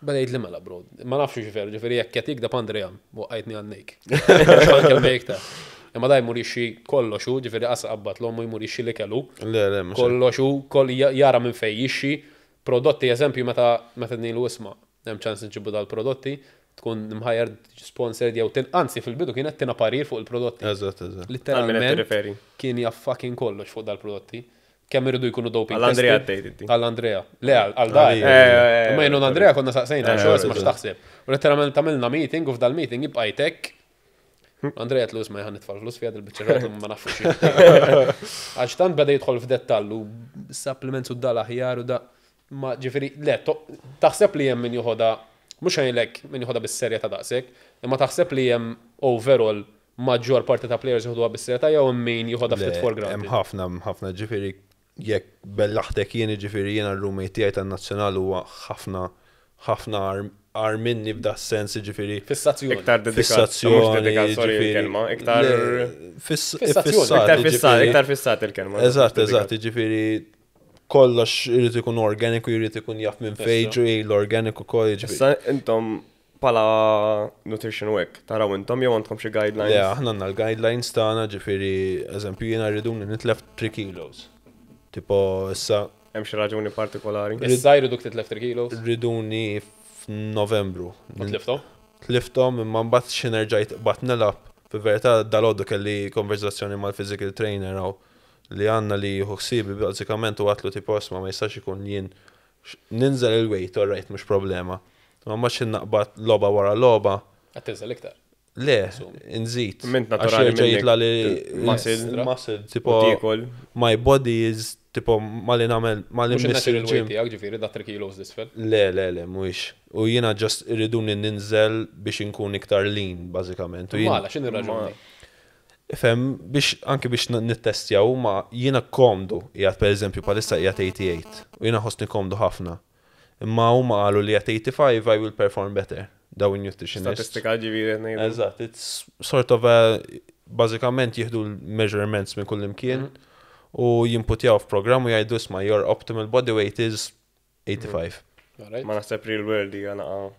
Bada jgħid li mela, bro. Ma nafx ġifieri, ġifieri jekk qed jikdeb Andrea, waqqajtni għannejk. X'anke iktar. Imma da jmur jixxi kollox hu, ġifieri qas qabbat l-ommu jmur jixxi li kellu. Le, le, mhux hekk. Kollox hu, koll jara minn fej jixxi. Prodotti, eżempju, meta nilu isma' hemm ċans nġibu dal-prodotti, tkun mħajjar sponsored jew tin, anzi fil-bidu kienet tina parir fuq il-prodotti. Eżatt. Literalment tirreferi. kien jaf fucking kollox fuq dal-prodotti. Kemm iridu jkunu doping Għall-Andrea tested. tgħid inti. Għall-Andrea. Le, għal dar. Għalija. Imma jenu Andrea konna saqsejna, xo isma' x'taħseb. U letteralment għamilna meeting u f'dal-meeting jibqa' jtek. Andrea tlus ma jħan nitfal flus fiha dil-biċċa ma nafux. Għax tant beda jidħol f'dettall u supplements u dal aħjar u da. Ma ġifieri, le, taħseb li hemm min joħodha, mhux ngħidlek min joħodha bis-serjetà daqshekk, imma taħseb li hemm overall maġġor parti ta' players joħduha bis-serjetà jew min joħodha ftit for Hemm granted. ħafna, hemm ħafna ġifieri jekk bellaħtek jien ġifieri jiena r-roommate tiegħi tan-nazzjonal huwa ħafna ħafna agħar minni b'da sens ġifieri Fissazzjoni. Iktar dedikat. Mhux fissazzjoni. dedikat, sorry ġifieri- il-kelma, iktar. Le, Fissazzjoni, fissat, Iktar fissat, ġifieri. iktar fissat il-kelma. Eżatt, ġifieri kollox irid ikun organiku, irid ikun jaf minn fejn ġej l-organic ukoll, ġifieri. Issa intom pala nutrition u hekk, taraw intom jew għandkom xi Le, guidelines. aħna għandna l-guidelines tagħna, ġifieri, eżempju, jiena rriduni nitlef 3 kilos. Tipo, issa Hemm xi raġuni partikolari. Issa jriduk titlef 3 kilos. riduni f'Novembru. U tliftom? Tliftom imma mbagħad xi nerġajt bat nilgħab. Fil-verità dalgħodu kelli konverzazzjoni mal-physical trainer għaw li għandna li jieħu ħsiebi bażikament u għatlu tipo isma' ma jistax ikun jien ninżel il-weight, all right, mhux problema. Ma mbagħad xi naqbad logħba wara logħba, Qed tinżel iktar. le, nżid. Mint Għax naturali jerġa' minnek jitla li muscle. muscle, U tipo tiekol. my body is tipo mali nagħmel mali Mhux miss il-natural il-gym. weight tiegħek ġifieri da 3 kilos disfel. Le, le, le, mhuwiex. U jiena just irriduni ninżel biex inkun iktar lean, bażikament. U jien- Mala, x'inhi raġuni? Fem, biex anki biex nittestjaw ma jiena komdu, qiegħed per eżempju palissa qiegħed 88 u jiena ħossni komdu ħafna. Imma huma qalu li at 85 I will perform better, daw in-nutritionist. Statistika ġifieri qed ngħidu. Eżatt, it's sort of a, bażikament jieħdu l-measurements minn kull imkien u jimputjaw f'programm u jgħidu isma' your optimal body weight is 85. Alright. Ma naħseb real world hija naqa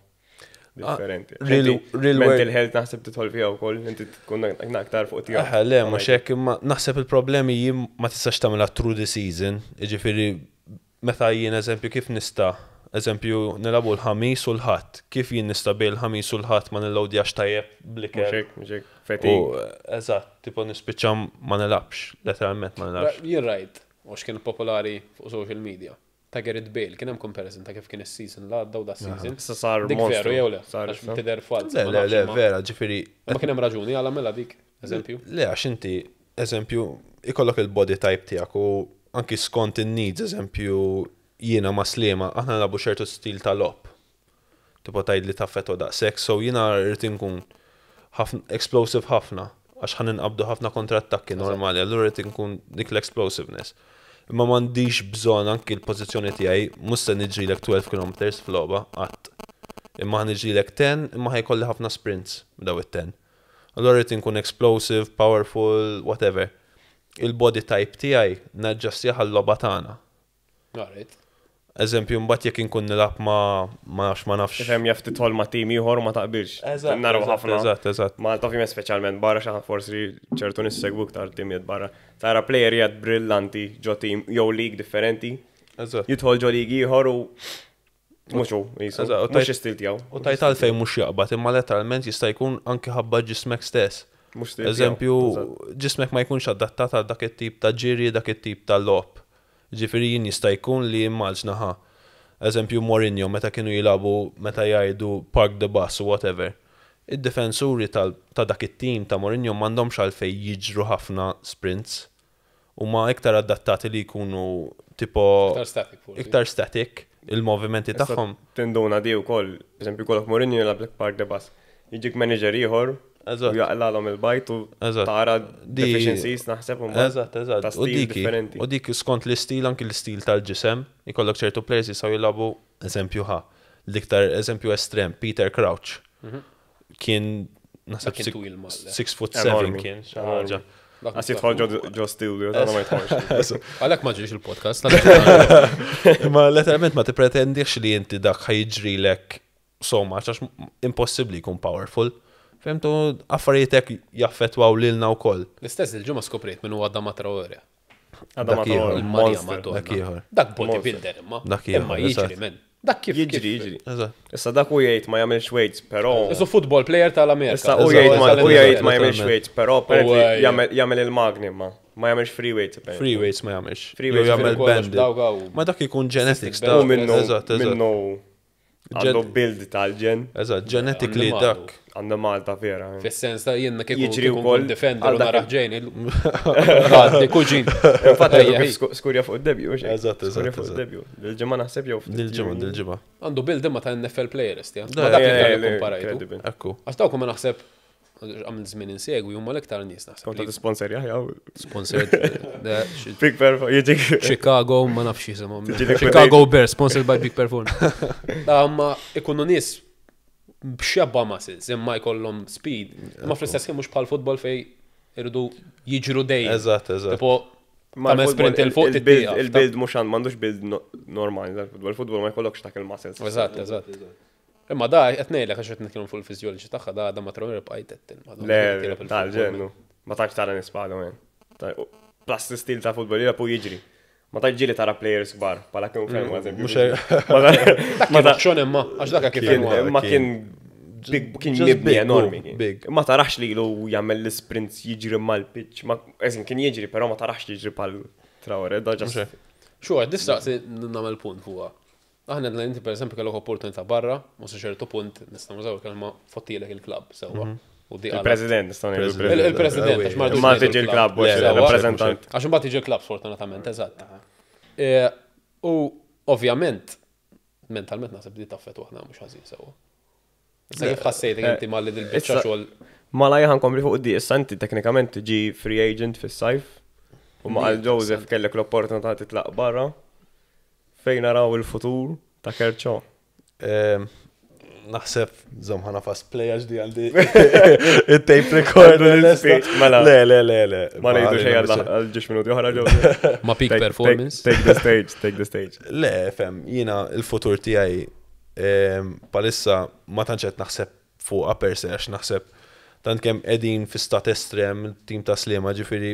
differenti. Ah, real- Inti real Mental world- health naħseb tidħol fiha wkoll, inti tkun aktar fuq tiegħek. Aha, le, mhux hekk, imma naħseb il-problemi jien ma tistax tagħmilha through the season, jiġifieri meta jien eżempju kif nista' eżempju nilagħbu l-ħamis u l-ħadd, kif jien nista' bejn il-ħamis u l-ħadd ma nillowdjax tajjeb Mhux bliker. hekk, mhux hekk. U Fatigue. eżatt, tipo nispiċċa ma nilgħabx, letteralment ma nilgħabx. Jien rajt, u x'kien popolari fuq social media. Ta' Gareth Bale, kien hemm comparison ta' kif kien is-season l għadda u da season. Issa sar Dik monstru. veru jew le? Sar Għax issa. tidher falz. Le, ma le, nafx le, imma- vera, ġifieri Ma kien hemm raġuni għala mela dik, eżempju. Le, għax inti, eżempju, ikollok il-body type tiegħek u anki skont in-needs, eżempju, jiena ma' Sliema, aħna nilagħbu ċertu stil ta' logħob. Tipo tgħid li taffetwa daqshekk, so jiena rrid inkun ħafna explosive ħafna, għax ħan inqabdu ħafna kontrattakki normali, allura rrid inkun dik l-explosiveness. Imma m'għandix bżonn anki l-pożizzjoni tiegħi mhux se niġrilek 12 km f'logħba qatt. Imma ħa niġrilek 10, imma ħa jkolli ħafna sprints daw it-10. Allura rrid inkun explosive, powerful, whatever. il-body type tiegħi naġġastjah għal-logħba tagħna. Alright. Eżempju, mbagħad jekk inkun nilgħab ma nafx ma nafx. Ifhem jaf tidħol ma' tim ieħor u ma taqbilx. Eżatt, Naraw eżatt, ħafna. Eżatt. Malta ovvjament speċjalment barra xi forsi ċertu nies segwu iktar timijiet barra. Tara player jgħad brillanti ġo tim jew league differenti, Eżatt. jidħol ġo league ieħor u mhux hu qisu. Eżatt, u Mhux tajt- istil tiegħu. U tajt għalfejn mhux jaqbad, imma letteralment jista' jkun anke ħabba ġismek stess. Mhux stil tiegħu. Eżempju, Eżatt. ġismek ma jkunx adattat għal dak it-tip ta' ġiri, dak it-tip ta' logħob. Ġifieri jien jista' jkun li immaġna ħa. Eżempju Mourinho meta kienu jilagħbu meta jgħidu park the bus u whatever. Id-difensuri ta' dak it-tim ta' Mourinho m'għandhomx għalfejn jiġru ħafna sprints. Huma iktar adattati li jkunu tipo Iktar static forsi. iktar static il-movimenti Issa tagħhom. Tinduna di wkoll, eżempju kollok Mourinho jilgħab park the bus. Jiġik manager ieħor u Eżatt. jaqlalhom il-bajt u Eżatt. tara Di- deficiencies naħseb u mbagħad Eżatt. ta' U stil diki, differenti. u dik skont l-istil, anki l-istil tal-ġisem, ikollok ċertu players jistgħu jilagħbu eżempju ħa. L-iktar eżempju estrem, Peter Crouch. Kien naħseb Dak kien twil mal- 6 foot 7 Enormi. kien xi ħaġa. Dak Għas jidħol ġo studio, tagħna ma jidħolx. Għalhekk ma ġiex il-podcast. għalhekk- Ma letteralment ma tippretendix li inti dak ħajġrilek so much għax impossibbli jkun powerful. Fehmtu affarijiet hekk jaffettwaw lilna wkoll. L-istess il-ġimgħa skoprejt minn huwa Adama Traore. Għadha ma Dak ieħor. tagħmel Il-Marja monster. Madonna. Dak ieħor. Dak bodybuilder imma. Dak ieħor, Imma jiġri eżatt. men. Dak kif. Jiġri, kif- jiġri. Eżatt. Issa dak u jgħid ma jagħmilx weights, però. Isu football player tal-Amerika. Issa u Eżatt, jgħid ma eżatt, u jgħid ma eżatt, jagħmilx eżatt. weights, però apparently ejja. jagħmel il-magni ma ma jagħmilx free weights apparently. Free weights ma jagħmilx. Free Jew weights jagħmel kollox banded. dawk hawn. Ma dak ikun genetics Cystic ta' U minnu Eżatt. minnu għandu build tal-ġen, Eżatt, genetically Għandu dak. għandu Malta vera. Fis-sens ta' jenna kieku Jiġri kieku wkoll nkun defender għal u dak naraħ ġejn. Għaddi, kuġin. Infatti Ejja, għandu kif ej. skurja fuq id-debju, mhux hekk? Eżatt, Skurja fuq eżatt. id-debju. Dil-ġimgħa naħseb jew ftit Dil-ġimgħa, jiem. dil-ġimgħa. Għandu build imma ta' NFL players, tja. Da, Ma dak Eh, li eh, komparajtu. incredible. Ekku. Għax dawk ma naħseb għamil żmien insegwi huma l-iktar nies naħseb. Kont li għad sponsor jaħja. Sponsored eh, Big Perform, jiġik. Chicago, ma nafx jisimhom. Tiġi liquidate. Chicago Bears, sponsored by Big Perform. Da, ma ikunu nies b'xebba muscles, imma jkollhom speed. Imma fl-istess ħin mhux bħal futbol fej irridu jiġru dejjem. Eżatt. Tipo, Ma tagħmel sprint il fuq il-build titieqaf. il-build mhux għand m'għandux build normali tal-futbol. Il-futbol ma jkollokx dak il-muscles. Eżatt. Imma da qed ngħidlek għax qed nitkellmu fuq il-fiżjoloġi tagħha da ma Traore bqajt qed Le, tal-ġennu. Ma tantx tara nispalu, men. Plus l-istil ta' futbol jilgħab u jiġri. Ma tantx ġieli tara players kbar, bħala kien ferm eżempju. Mhux hekk. Ma Dak ma kien xon imma, għax dak kif kien huwa. ma kien big kien Just mibni big, enormi. oh, kien. big. Ma tarax li ilu jagħmel l-sprints jiġri mal-pitch. Ma eżin kien jiġri, però ma tarax li jiġri pal Traore, da Mhux ġast. hekk. Xu għed, nistaqsi nagħmel punt fuqha. Aħna għedna inti per eżempju kellok opportunità barra, u sa ċertu punt nistgħu nużaw il-kelma fottilek il-klabb sewwa. U di għala. Il-president, nistgħu ngħidu President. il-president. Il-president, għax ma rridux Ma ngħidu tiġi l-klabb, Le, mhux le, il-rappreżentant. Għax imbagħad tiġi l-klabb sfortunatament, eżatt. E, U ovvjament, mentalment naħseb di taffet waħda mhux ħażin sewwa. Issa kif ħassejtek inti malli dil-biċċa Issa- xogħol Ma la jħan kompli fuq di, issa inti teknikament tiġi free agent fis-sajf. U ma għal Joseph kellek l-opportunità titlaq barra. Fejn naraw il-futur ta' Kerċo. Ehm, Naħseb, zom ħana fast play għax di għandi il-tape recorder. Għandu l-speech, mela. Le, le, le, le. Ma ngħidu xejn għal ġiex minuti oħra Joseph. ma peak Take- performance. Take the stage, take the stage. Le, fem, jina il-futur tiegħi palissa ma tantx qed naħseb fuqha per se għax naħseb tant kemm qegħdin fi stat estrem il-tim ta' Sliema ġifieri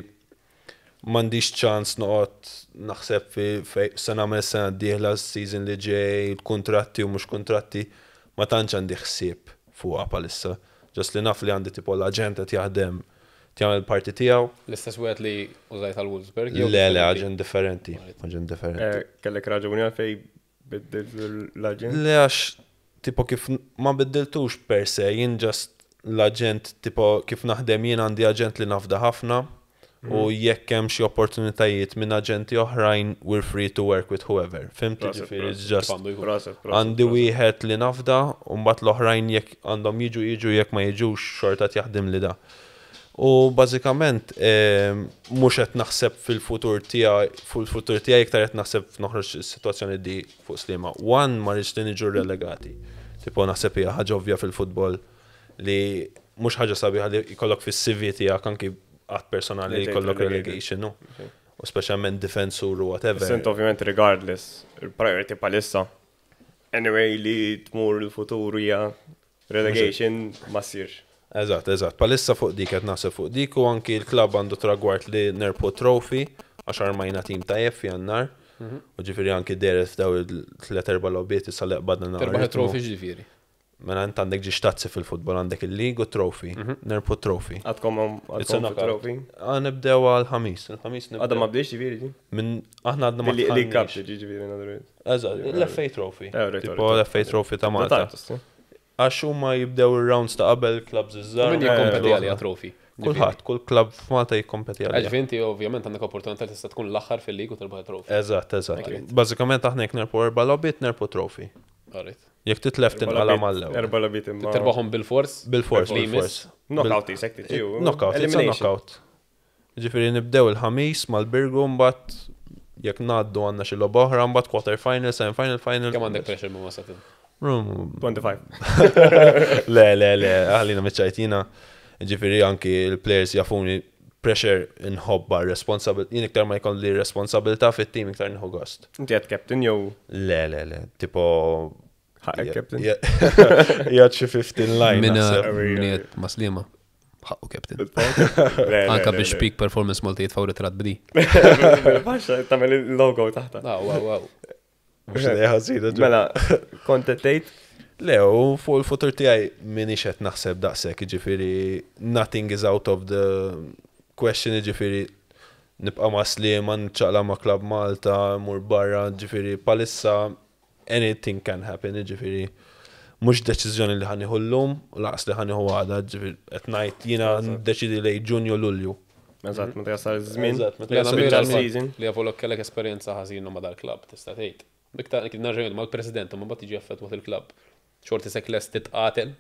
m'għandix ċans noqgħod naħseb fi fej se nagħmel sena d-dieħla season li ġej, il-kuntratti u mhux kuntratti, ma tantx għandi ħsieb fuqha palissa. Ġast li naf li għandi tipo l-aġent qed jaħdem jagħmel parti tiegħu. L-istess wieħed li użajt għal Wolfsburg. jew Le, le, differenti? aġent differenti, aġent differenti. Eh, Kellek raġuni għalfej biddilt l-aġent. Le għax, tipo kif ma biddiltux per se, jien just l-aġent, tipo kif naħdem jien għandi aġent li nafda ħafna u jekk hemm xi opportunitajiet minn aġenti oħrajn, we're free to work with whoever. Fhimt Proset, ġifieri, proset. it's just Kif għandu jkun. Proset, proset, għandi proset. wieħed li nafda u mbagħad l-oħrajn jekk għandhom jiġu jiġu jekk ma jiġux xorta jaħdem li da. U bażikament mhux qed naħseb fil-futur tiegħi fil-futur tiegħi iktar qed naħseb noħroġ is-sitwazzjoni di fuq Sliema. One ma rridx li niġu relegati. Tipo naħseb hija ħaġa ovvja fil-futbol li mhux ħaġa sabiħa li jkollok fis-CV tiegħek anki qatt personali Li tgħid jkollok relegated. relegation, no. U speċjalment difensur u whatever. Sent ovvjament regardless, il-priority palissa. Anyway, li tmur il-futur hija relegation ma ssirx. Eżatt, eżatt. Palissa fuq dik qed naħseb fuq dik u anki l-klabb għandu tragward li nerpu trophy għax armajna tim tajjeb f'jannar. U ġifieri anki deret f'daw il-tliet erba' logħbiet issa li qbadna naqra Terbaħ ritmu. trofi ġifieri. Mela int għandek ġiex tazzi fil-futbol għandek il-league u trophy. Nerpu trophy. Għadkom It's a għadkom knockout. trophy. Ah, nibdew għal-ħamis. Il-ħamis Għadha ma nibdew. bdiex ġifieri ġi? Minn aħna għadna ma Li League Cup tħallniex. ġi ġifieri in other words. Eżatt, l-FA Trophy. Eh, right, Tipo right, right. l-FA Trophy ta' Malta. Ta' tartu, Għax huma jibdew ir-rounds ta' qabel clubs iż-żgħar. Min jikkompeti għalija trofi? Kulħadd, kull club f'Malta jikkompeti għalija. Ġifieri inti ovvjament għandek opportunità li tista' tkun l-aħħar fil-lig u terbaħ trofi. Eżatt, eżatt. Bażikament aħna jekk nerpu erba' logħbiet nerpu trophy. Alright. Jekk titlef tinqala mal-ewwel. Erba labiet imma. Terbaħhom bil-fors? Bil-fors, Li bil-fors. jmiss? Knockout isek tiġi. Knockout, it's a knockout. Ġifieri nibdew il-ħamis mal-Birgu mbagħad jekk ngħaddu għandna xi logħba oħra mbagħad quarter final, semi final, final. Kemm għandek pressure ma' satin? 25. Le, le, le, għalina mitċajtina. Ġifieri anki il-players jafuni pressure inħobba, responsabil, jien iktar ma jkolli responsabilità fit-team iktar nħu gost. Inti għed captain jew Le, le, le, tipo. ħaqek captain. Jgħad xi 15 line. Minna naħseb. minniet maslima. Ħaqqu captain. Le, le, Anka le, biex le. peak performance Malta jitfaw ritrat bdi. Faxxa tagħmel il-logo taħta. Ah, wow, wow. Mhux idea ħażina, ġu. Mela, kont qed tgħid Le, u fuq il-futur tiegħi minix qed naħseb daqshekk, jiġifieri nothing is out of the question, jiġifieri nibqa' ma' Sliema, nċaqla ma' Club Malta, mur barra, ġifieri palissa anything can happen, jiġifieri mhux deċiżjoni li ħanieħu llum u laqas li ħanieħu għada, ġifieri qed ngħid jiena ndeċidi lejn Ġunju Lulju. Eżatt, meta jasal iż-żmien. Eżatt, meta Li jasal għana Spiċċa mira l-season. Li għavolok kellek esperjenza ħażina ma' dal-klab, tista' tgħid. Iktar kif nerġa' mal-president ma mbagħad tiġi affettwat il-klab. Xorti sek lest titqatel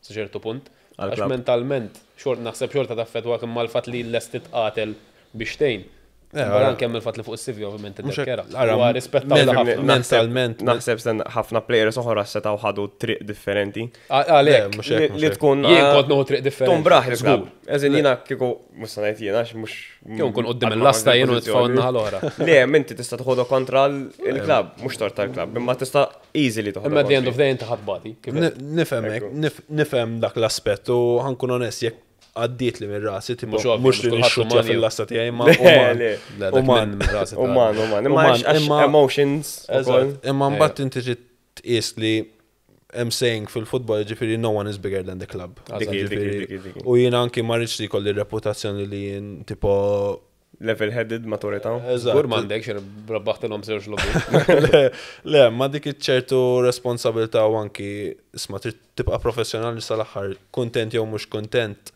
sa ċertu punt. Għax Għall-klabb. mentalment, xort naħseb xorta taffettwak imma l-fatt li lest titqatel biex tgħin. Eh, Barra ara. anke hemm il-fatt li fuq is-CV ovvjament Mhux hekk, iddekkera. ara, Huwa rispettaw ħafna. Mentalment, Naħseb sen ħafna players oħra setgħu ħadu triq differenti. Għalhekk, mhux Li hekk, mhux li hekk. tkun jien kont nieħu triq differenti. Tumbraħ il-klab. Żgur. Eżin jiena kieku mhux se ngħid jiena għax mhux. Jew nkun qudiem il-lasta jien u nitfgħu n-naħa l-oħra. Le, minti tista' tħodu kontra l-klab, mhux tort tal-klab, imma tista' easily toħodu. Imma at the end of the day inti ħadd bati. kif qed. Nifhem hekk, nifhem dak l-aspett u ħankun onest jekk għaddiet li minn rasi, tipo, Mhux ovvju, mhux li mhux kulħadd nixxutja uman jew. fil-lasta tiegħi ma Le, uman. le. Le, dak Uman. minn rasi ta' Uman, uman. Imma Uman, għax emotions ukoll. Eżatt, Imma mbagħad inti trid tqis li hemm saying fil-futbol ġifieri no one is bigger than the club. Dik hi, dik hi, Ġifieri, dik hi, dik hi. U jiena anki ma rridx li jkolli reputazzjoni li jien tipo Level-headed maturità. Eżatt. Żgur m'għandek xi rabbaħtilhom żewġ logħbiet. le, le, ma dik ċertu responsabilità u anki isma trid tibqa' professjonali sal-aħħar, kontent jew mhux kontent,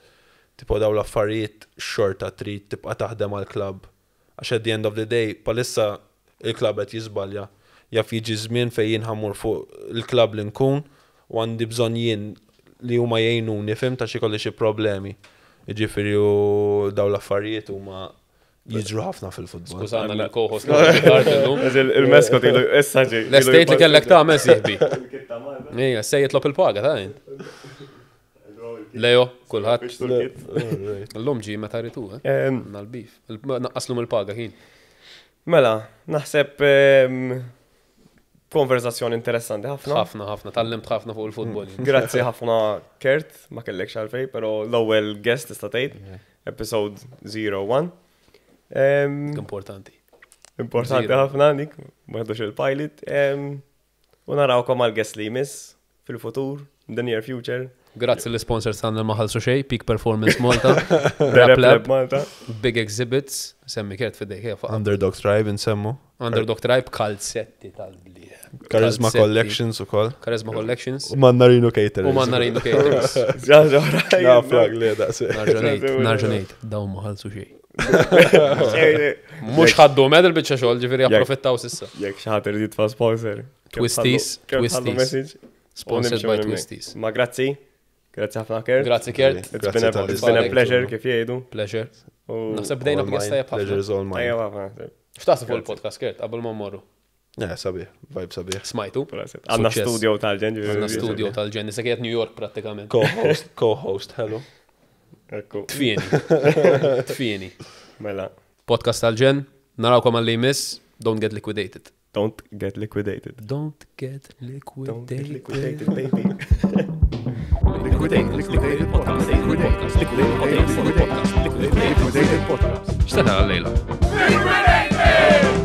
tipo daw l-affarijiet xorta trid tibqa' taħdem għal klabb. Għax at the end of the day, palissa il-klabb qed jiżbalja. Jaf jiġi żmien fejn jien ħammur fuq il-klabb li nkun u għandi bżonn jien li huma jgħinuni fim ta' xi kolli xi problemi. Jiġifieri u daw l-affarijiet huma jiġru ħafna fil-futbol. Skużana l-co-host tard illum. Il-meskot ilu issa ġi. L-estate li kellek tagħmel sieħbi. Ejja, se jitlob il-paga ta' int. Leo, kulħadd. Illum ġi meta ritu, eh? Nal-bif. Naqqaslum il-paga kien. Mela, naħseb konverzazzjoni interessanti ħafna. Ħafna, ħafna, tallimt ħafna fuq il-futbol. Grazzi ħafna Kurt, ma kellekx għalfej, pero l-ewwel guest tista' tgħid, episode 01. Importanti. Importanti Zero. ħafna dik, ma ħadux il-pilot. U narawkom għal guest li jmiss fil-futur, in the near future. Grazzi l-sponsors tagħna ma ħallsu xejn, Peak Performance Malta, The Rap Rap Lab, Lab Malta. Big Exhibits, semmi Kurt fidejk, ejja, faqa. Underdog Tribe insemmu. Underdog Tribe, kalzetti tal-blieh. Charisma Kalzetti. Collections u koll. Charisma Collections. U Mannarino Caterers. U Mannarino Caterers. Ġaġa, Naf lag li daqsi. Narġanejt, narġanejt, dawn ma ħallsu xejn. Mhux ħaddu med il-biċċa xogħol, ġifieri approfittaw sissa. Jekk xi ħadd irid jitfa' sponsor. Twisties, Twisties. Sponsored by Twisties. Ma grazzi, grazzi ħafna Kurt. Grazzi Kurt, It's been a, Grazzi it's been a tal-li- pleasure kif jgħidu. pleasure. U- Naħseb bdejna All b'gesta mine, tajjeb ħafna. Pleasure is all mine. Tajjeb ħafna. X'taħseb fuq il-podcast Kurt qabel ma mmorru? Yeah, sabiħ, vibe sabiħ. Smajtu? Għandna Suċċess. studio tal-ġen. Għandna studio tal-ġen, issa qiegħed New York prattikament. Co-host, co-host, hello. Ekku. Tfieni. Tfieni. Mela. Podcast tal-ġen, narawkom għalli jmiss, don't get liquidated. Don't get liquidated. Don't get Don't get liquidated. liquidated, baby. Liquidated, liquidated podcast, liquidated, liquidated, liquidated, liquidated podcast. X'tara għal-lejla? Liquidated!